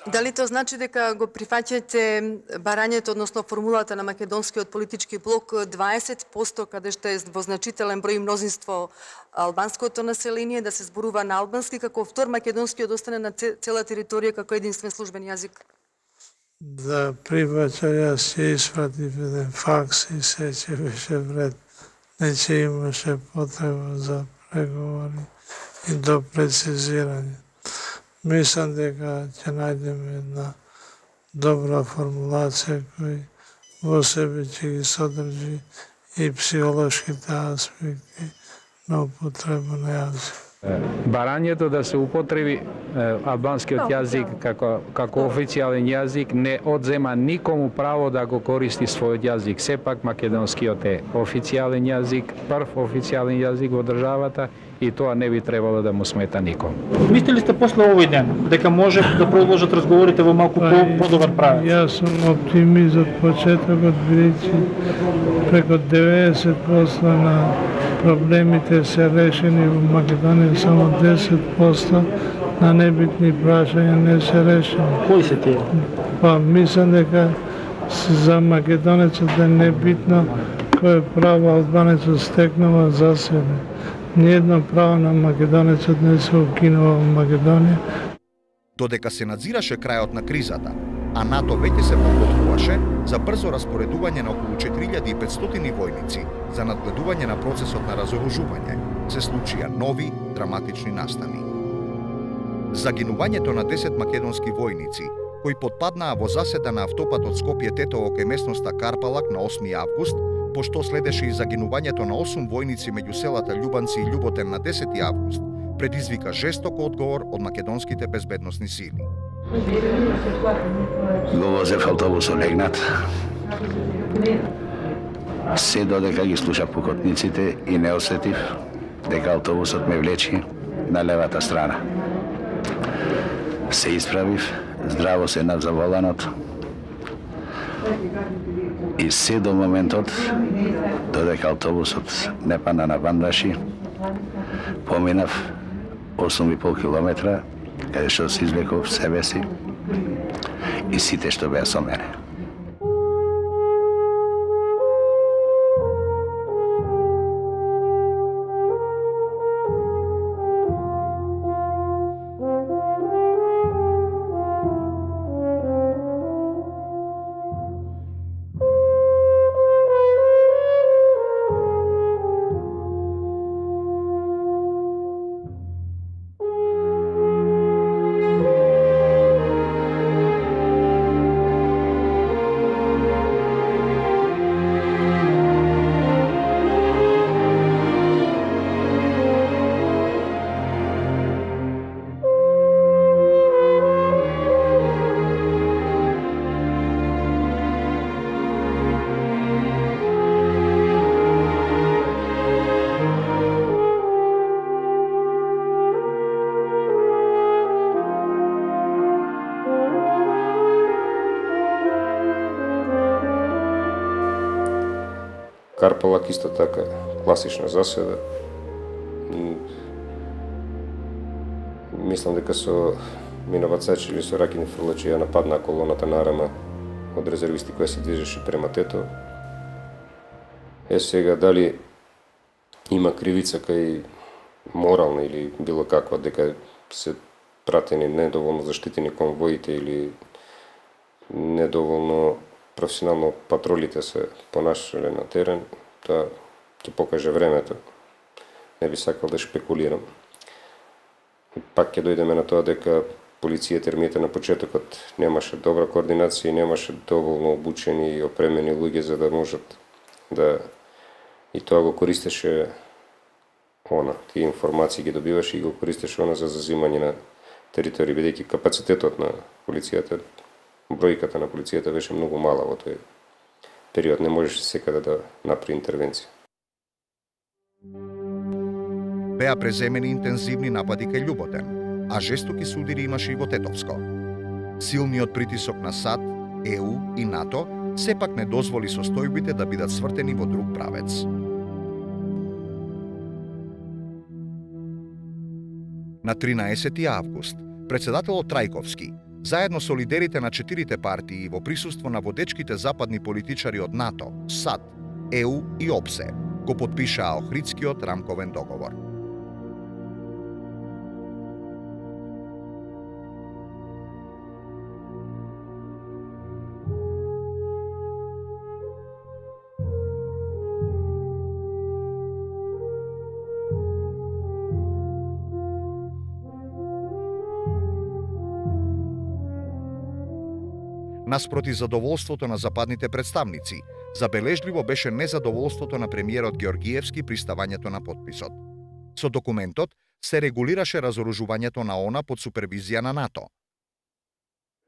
Speaker 11: Дали тоа значи дека го прифаќате барањето, односно формулата на македонскиот политички блок дваесет проценти, каде што е во значителен број мнозинство албанското население, да се зборува на албански, како втор македонски да остане на цела територија како единствен службен јазик?
Speaker 4: Да прифаќа, јас ќе испратив еден факс и се ќе беше вред. Не ќе имаше потреба за преговори и до прецизирање. Мислам дека ќе најдеме една добра формулација кој во себе ќе ги содржи и психолошките аспекти на употреба на јазик.
Speaker 20: Барањето да се употреби албанскиот јазик како, како официјален јазик не одзема никому право да го користи својот јазик. Сепак македонскиот е официјален јазик, прв официјален јазик во државата и тоа не би требало да му смета никому.
Speaker 22: Мислите ли сте после овој ден дека може да продолжат разговорите во малку подобар правец?
Speaker 4: Јас сум оптимист од почетокот, бидејќи преку деветдесет проценти на проблемите се решени во Македонија, само десет проценти на небитни прашања не се решени.
Speaker 22: Кои се тие?
Speaker 4: Па, мислам дека за македонецот е небитно кој право албанецот стекнува за себе. Ниедно право на македонецот не се укинува во Македонија.
Speaker 2: Додека се надзираше крајот на кризата, а НАТО веќе се подготвуваше за брзо распоредување на околу четири илјади и петстотини војници за надгледување на процесот на разоружување, се случија нови драматични настани. Загинувањето на десет македонски војници, кои потпаднаа во заседа на автопатот Скопје-Тетово кај местноста Карпалак на осми август, пошто следеше и загинувањето на осум војници меѓу селата Љубанци и Љуботен на десети август, предизвика жесток одговор од македонските безбедносни сили.
Speaker 21: Го возев автобусот легнат. Се додека ги слуша пукотниците и не осетив дека автобусот ме влечи на левата страна. Се исправив, здраво седнав за воланот и се до моментот додека автобусот не пана на Вандаши, поминав осум и пол километра, каде што се извлеков себе си и сите што беа со мене.
Speaker 3: Карпалак исто така класична заседа. Мислам дека со минавацачи или со ракини фрлачи ја нападна колоната на Арама од резервисти која се движеше према Тето. Е сега дали има кривица кај морална или било каква, дека се пратени недоволно заштитени конвоите или недоволно професионално патролите се понашале на терен, тоа ќе покаже времето. Не би сакал да шпекулирам. Пак ќе дојдеме на тоа дека полицијата ермијата на почетокот немаше добра координација и немаше доволно обучени и опремени луѓе за да можат да и тоа го користеше она, тие информации ги добиваше и го користеше она за зазимање на територии, бидејќи капацитетот на полицијата, бројката на полицијата беше многу мала во тој период, не можеше секаде да направи интервенција.
Speaker 2: Беа преземени интензивни напади кај Љуботен, а жестоки судири имаше и во Тетовско. Силниот притисок на САД, Е У и НАТО сепак не дозволи состојбите да бидат свртени во друг правец. На тринаесети август, председателот Трајковски, заедно со лидерите на четирите партии во присуство на водечките западни политичари од НАТО, САД, Е У и ОПСЕ, го потпишаа Охридскиот рамковен договор. Наспроти задоволството на западните представници, забележливо беше незадоволството на премиерот Георгиевски при ставањето на потписот. Со документот се регулираше разоружувањето на ОНА под супервизија на НАТО.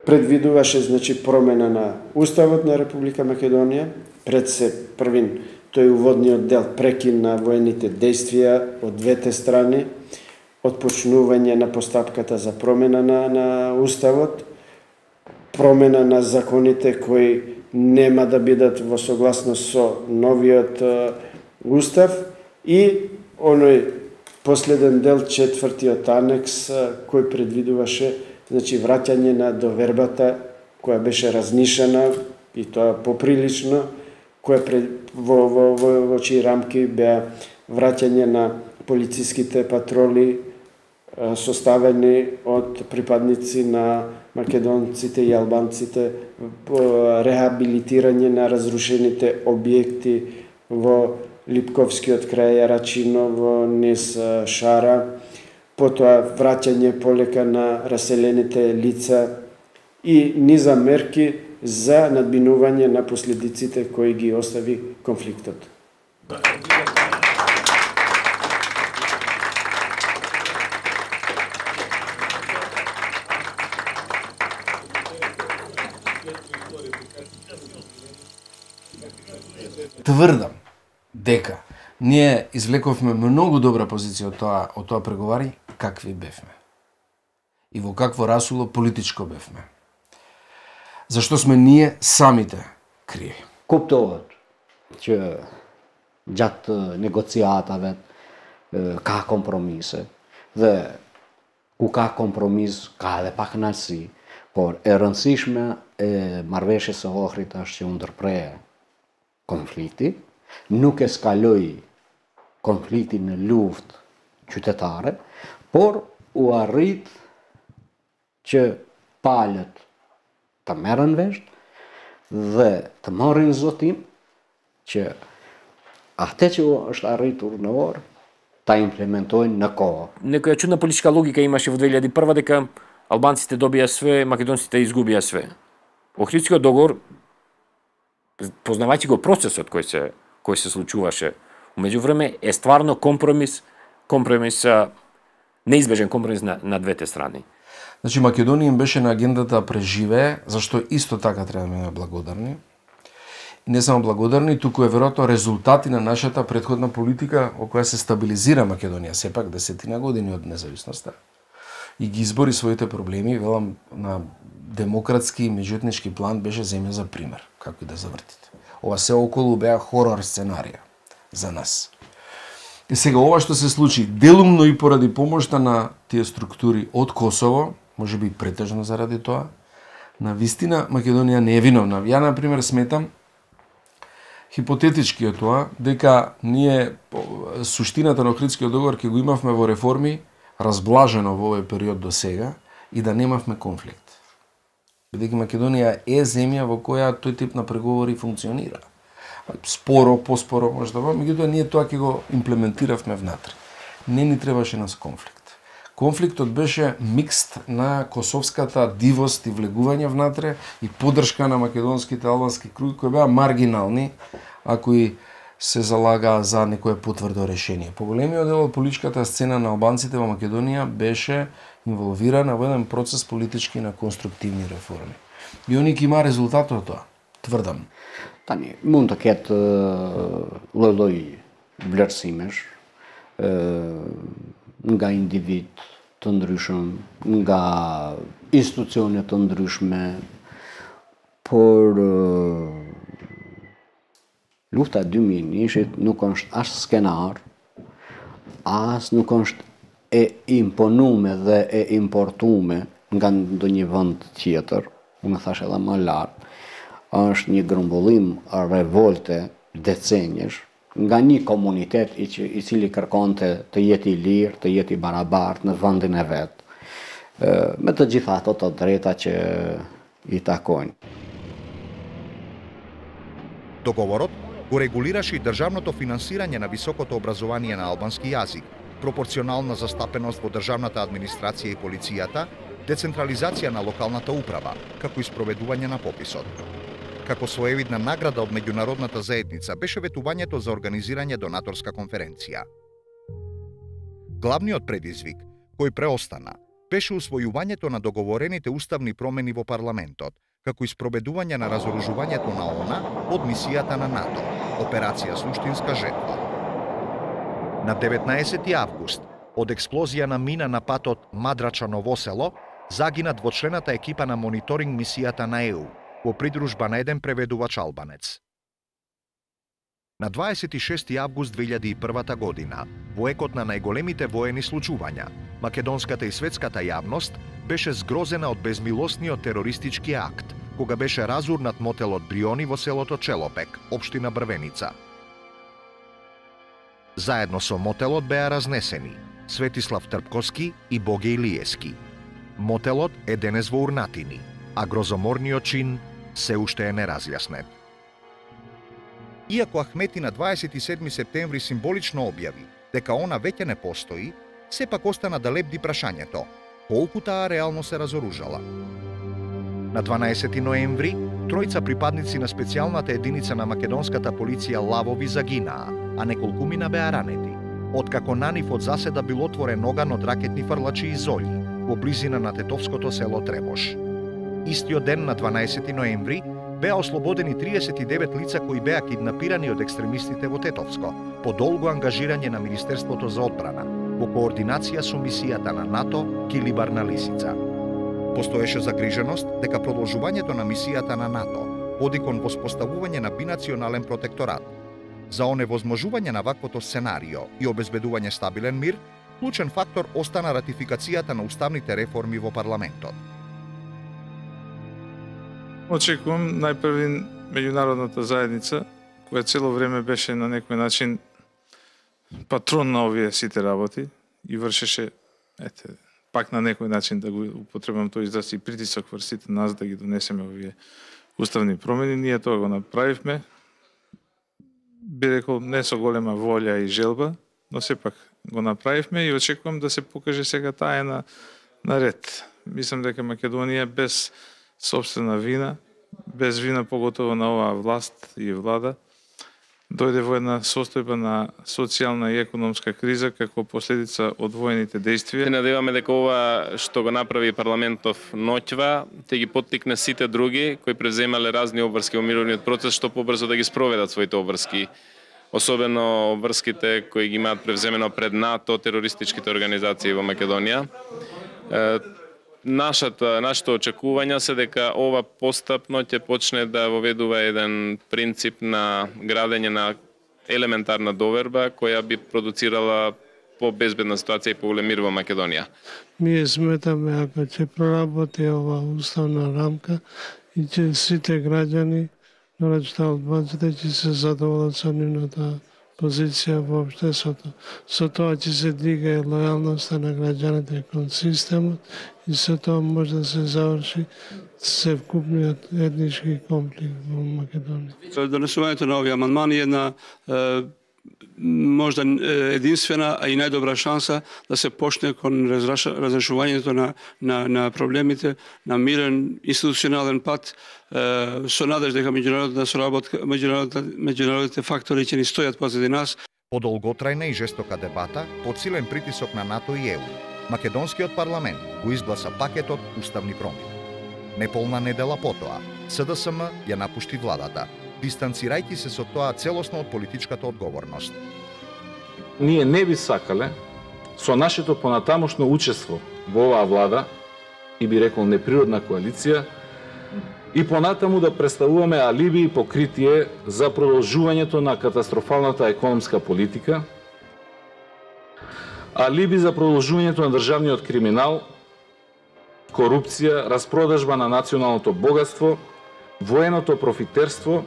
Speaker 6: Предвидуваше значи промена на Уставот на Република Македонија, пред се првин тој уводниот дел прекин на воените действија од двете страни, отпочнување на постапката за промена на, на Уставот, промена на законите кои нема да бидат во согласност со новиот uh, устав и оној последен дел, четвртиот анекс, uh, кој предвидуваше значи враќање на довербата која беше разнишена и тоа поприлично, која пред, во, во, во, во чии рамки беа враќање на полициските патроли составени од припадници на македонците и албанците, рехабилитирање на разрушените објекти во Липковскиот крај Јарачиново, низ Шара, потоа враќање полека на раселените лица и низа мерки за надминување на последиците кои ги остави конфликтот.
Speaker 7: Тврдам дека ние извлековме многу добра позиција од тоа, од тоа преговари, какви бевме. И во какво расуло политичко бевме. Зашто сме ние самите криви.
Speaker 5: Куптуваат че џат негоцијатаве ка компромисе, dhe ku ka kompromis, ka edhe pak kënaqësi, por e rëndësishme e marrëveshjes së Ohrit është që u ndërpre konflikti, nuk eskaloi konflikti në luftë qytetare, por u arrit që palët të merren vesh dhe të marrin zotim që atë që është arritur në orë та имплементојnë на kohë.
Speaker 8: Некоја чудна политичка логика имаше во две илјади и прва дека албанците добија све, македонците изгубија све. Охридскиот договор, познавајќи го процесот кој се кој се случуваше, меѓувреме е стварно компромис, компромис неизбежен компромис на, на двете страни.
Speaker 7: Значи Македонија им беше на агендата да преживее, зашто исто така треба да бидеме благодарни. И не само благодарни, туку е веројатно резултати на нашата претходна политика во која се стабилизира Македонија сепак десетина години од независноста и ги избори своите проблеми, велам, на демократски и меѓуетнички план беше земја за пример, како и да завртите. Ова се околу беа хорор сценарија за нас. И сега ова што се случи делумно и поради помошта на тие структури од Косово, може би претежно заради тоа, на вистина Македонија не е виновна. Ја, например, сметам, хипотетички е тоа, дека ние суштината на Охридскиот договор ќе го имавме во реформи, разблажено во овој период до сега, и да немавме конфликт. Бидејќи Македонија е земја во која тој тип на преговори функционира. Споро, поспоро, може да бъде, меѓутоа ние тоа ќе го имплементиравме внатре. Не ни требаше нас конфликт. Конфликтот беше микст на косовската дивост и влегување внатре и поддршка на македонските албански круги кои беа маргинални, а кои се залагаа за некое потврдо решение. Поголемиот дел од политичката сцена на албанците во Македонија беше инволвирана во еден процес политички на конструктивни реформи. И они ќе има резултат од тоа, тврдам.
Speaker 5: Tani, mund të ketë lloj-lloj vlerësimesh nga individ të ndryshëm, nga institucione të ndryshme, por lufta e dy mijë e njëzet nuk është as skenar, as nuk është e imponume dhe e importume nga ndonjë vend tjetër, unë thash edhe më lart, është një grumbullim revolte decenjesh nga një komunitet i, i cili kërkonte të jetë i lirë, të jetë i barabartë në vendin e vet, me të gjitha ato të drejta që i takojnë.
Speaker 2: Договорот го регулираше и државното финансирање на високото образование на албански јазик, пропорционална застапеност во државната администрација и полицијата, децентрализација на локалната управа, како и спроведување на пописот. Како своевидна награда од меѓународната заедница беше ветувањето за организирање донаторска конференција. Главниот предизвик, кој преостана, беше усвојувањето на договорените уставни промени во парламентот, како и спроведување на разоружувањето на ООН од мисијата на НАТО, операција Суштинска жетва. На деветнаесети август, од експлозија на мина на патот Мадрача-Ново село, загина двочлената екипа на мониторинг мисијата на ЕУ, во придружба на еден преведувач албанец. На дваесет и шести август две илјади и прва година, во екот на најголемите воени случувања, македонската и светската јавност беше згрозена од безмилосниот терористички акт, кога беше разурнат мотелот Бриони во селото Челопек, општина Брвеница. Заедно со мотелот беа разнесени Светислав Трпковски и Боге Илиевски. Мотелот е денес во урнатини, а грозоморниот чин се уште е неразјаснет. Иако Ахмети на дваесет и седми септември символично објави дека она веќе не постои, сепак остана да лебди прашањето колку таа реално се разоружала. На дванаесети ноември, тројца припадници на специјалната единица на македонската полиција Лавови загинаа, а неколкумина беа ранети, откако на нив од заседа бил отворен оган од ракетни фрлачи и золји во близина на тетовското село Требош. Истиот ден на дванаесети ноември беа ослободени триесет и девет лица кои беа киднапирани од екстремистите во Тетовско, по долго ангажирање на Министерството за одбрана, во координација со мисијата на НАТО Килибар на Лисица. Постоеше загриженост дека продолжувањето на мисијата на НАТО води кон воспоставување на бинационален протекторат. За оневозможување на ваквото сценарио и обезбедување стабилен мир, клучен фактор остана ратификацијата на уставните реформи во парламентот.
Speaker 4: Очекувам најпрви меѓународната заедница, која цело време беше на некој начин патрон на овие сите работи и вршеше, ете, пак на некој начин да го употребам тој израз и притисок врз сите нас да ги донесеме овие уставни промени. Ние тоа го направивме, би рекол не со голема волја и желба, но сепак го направивме и очекувам да се покаже сега таа е на, на ред. Мислам дека Македонија без собствена вина, без вина поготово на оваа власт и влада, дојде во една состојба на социјална и економска криза како последица од воените действија.
Speaker 10: Се надеваме дека ова што го направи парламентов ноќва ќе ги поттикне сите други кои превземале разни обврски во мировниот процес што побрзо да ги спроведат своите обврски, особено обврските кои ги имаат превземено пред НАТО терористичките организации во Македонија. нашата нашето очекувања се дека ова постапно ќе почне да воведува еден принцип на градење на елементарна доверба која би продуцирала по-безбедна ситуација и по-голем мир во Македонија.
Speaker 4: Ние сметаме ако ќе проработи ова уставна рамка и ќе сите граѓани, нараѓата албанците, ќе се задоволат со нивната позиција во општеството. Со тоа ќе се дига лојалноста на граѓаните кон системот и со тоа може да се заврши севкупниот етнички конфликт во Македонија.
Speaker 17: Донесувањето на овие амандмани е една можда единствена, а и најдобра шанса да се почне кон разрешувањето на, на, на проблемите на мирен институционален пат, со надеж дека меѓународната соработка, меѓународните фактори ќе ни стојат позади нас.
Speaker 2: По долготрајна и жестока дебата, под силен притисок на НАТО и Е У, македонскиот парламент го изгласа пакетот уставни промени. Неполна недела потоа, С Д С М ја напушти владата, дистанцирајќи се со тоа целосно од политичката одговорност.
Speaker 19: Ние не би сакале со нашето понатамошно учество во оваа влада и би рекол неприродна коалиција и понатаму да представуваме алиби и покритие за продолжувањето на катастрофалната економска политика, алиби за продолжувањето на државниот криминал, корупција, распродажба на националното богатство, военото профитерство,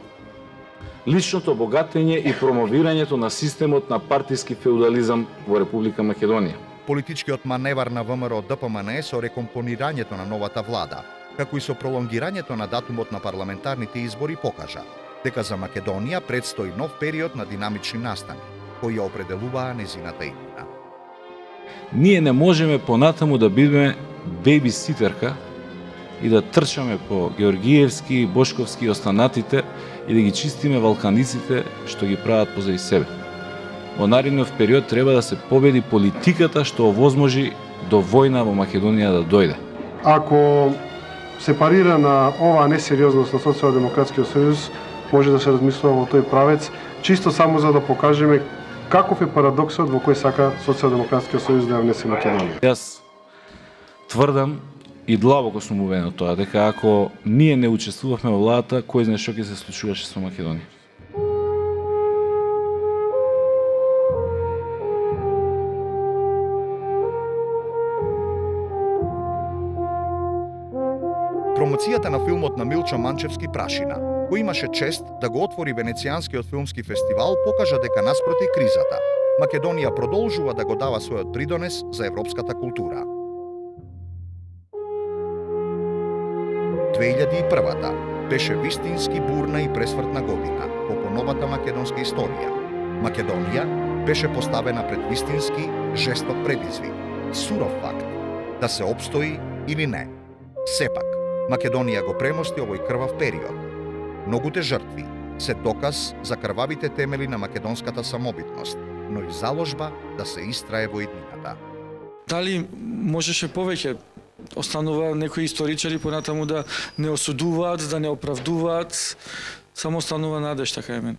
Speaker 19: личното богатење и промовирањето на системот на партиски феудализам во Република Македонија.
Speaker 2: Политичкиот маневар на В М Р Д П М Н со рекомпонирањето на новата влада, како и со пролонгирањето на датумот на парламентарните избори покажа дека за Македонија предстои нов период на динамични настани, кои ја определуваа незината иднина.
Speaker 19: Ние не можеме понатаму да бидеме бейбиситерка и да трчаме по Георгиевски, Бошковски и останатите и да ги чистиме валканиците што ги прават позади себе. Во наредниот период треба да се победи политиката што овозможи до војна во Македонија да дојде.
Speaker 13: Ако се парира на оваа несериозност на Социјалдемократскиот сојуз, може да се размислува во тој правец, чисто само за да покажеме каков е парадоксот во кој сака Социјалдемократскиот сојуз да ја внесе Македонија.
Speaker 19: Јас тврдам и длабоко сум убеден од тоа дека ако ние не учествувавме во владата, кој знае што ќе се случуваше со Македонија.
Speaker 2: Промоцијата на филмот на Милчо Манчевски Прашина, кој имаше чест да го отвори Венецијанскиот филмски фестивал, покажа дека наспроти кризата, Македонија продолжува да го дава својот придонес за европската култура. две илјади и првата беше вистински бурна и пресвртна година во поновата македонска историја. Македонија беше поставена пред вистински жесток предизвик, суров факт, да се опстои или не. Сепак, Македонија го премости овој крвав период. Многуте жртви се доказ за крвавите темели на македонската самобитност, но и заложба да се истрае во иднината.
Speaker 23: Дали можеше повеќе? Останува некои историчари понатаму да не осудуваат, да не оправдуваат, само останува надеж, така е мен.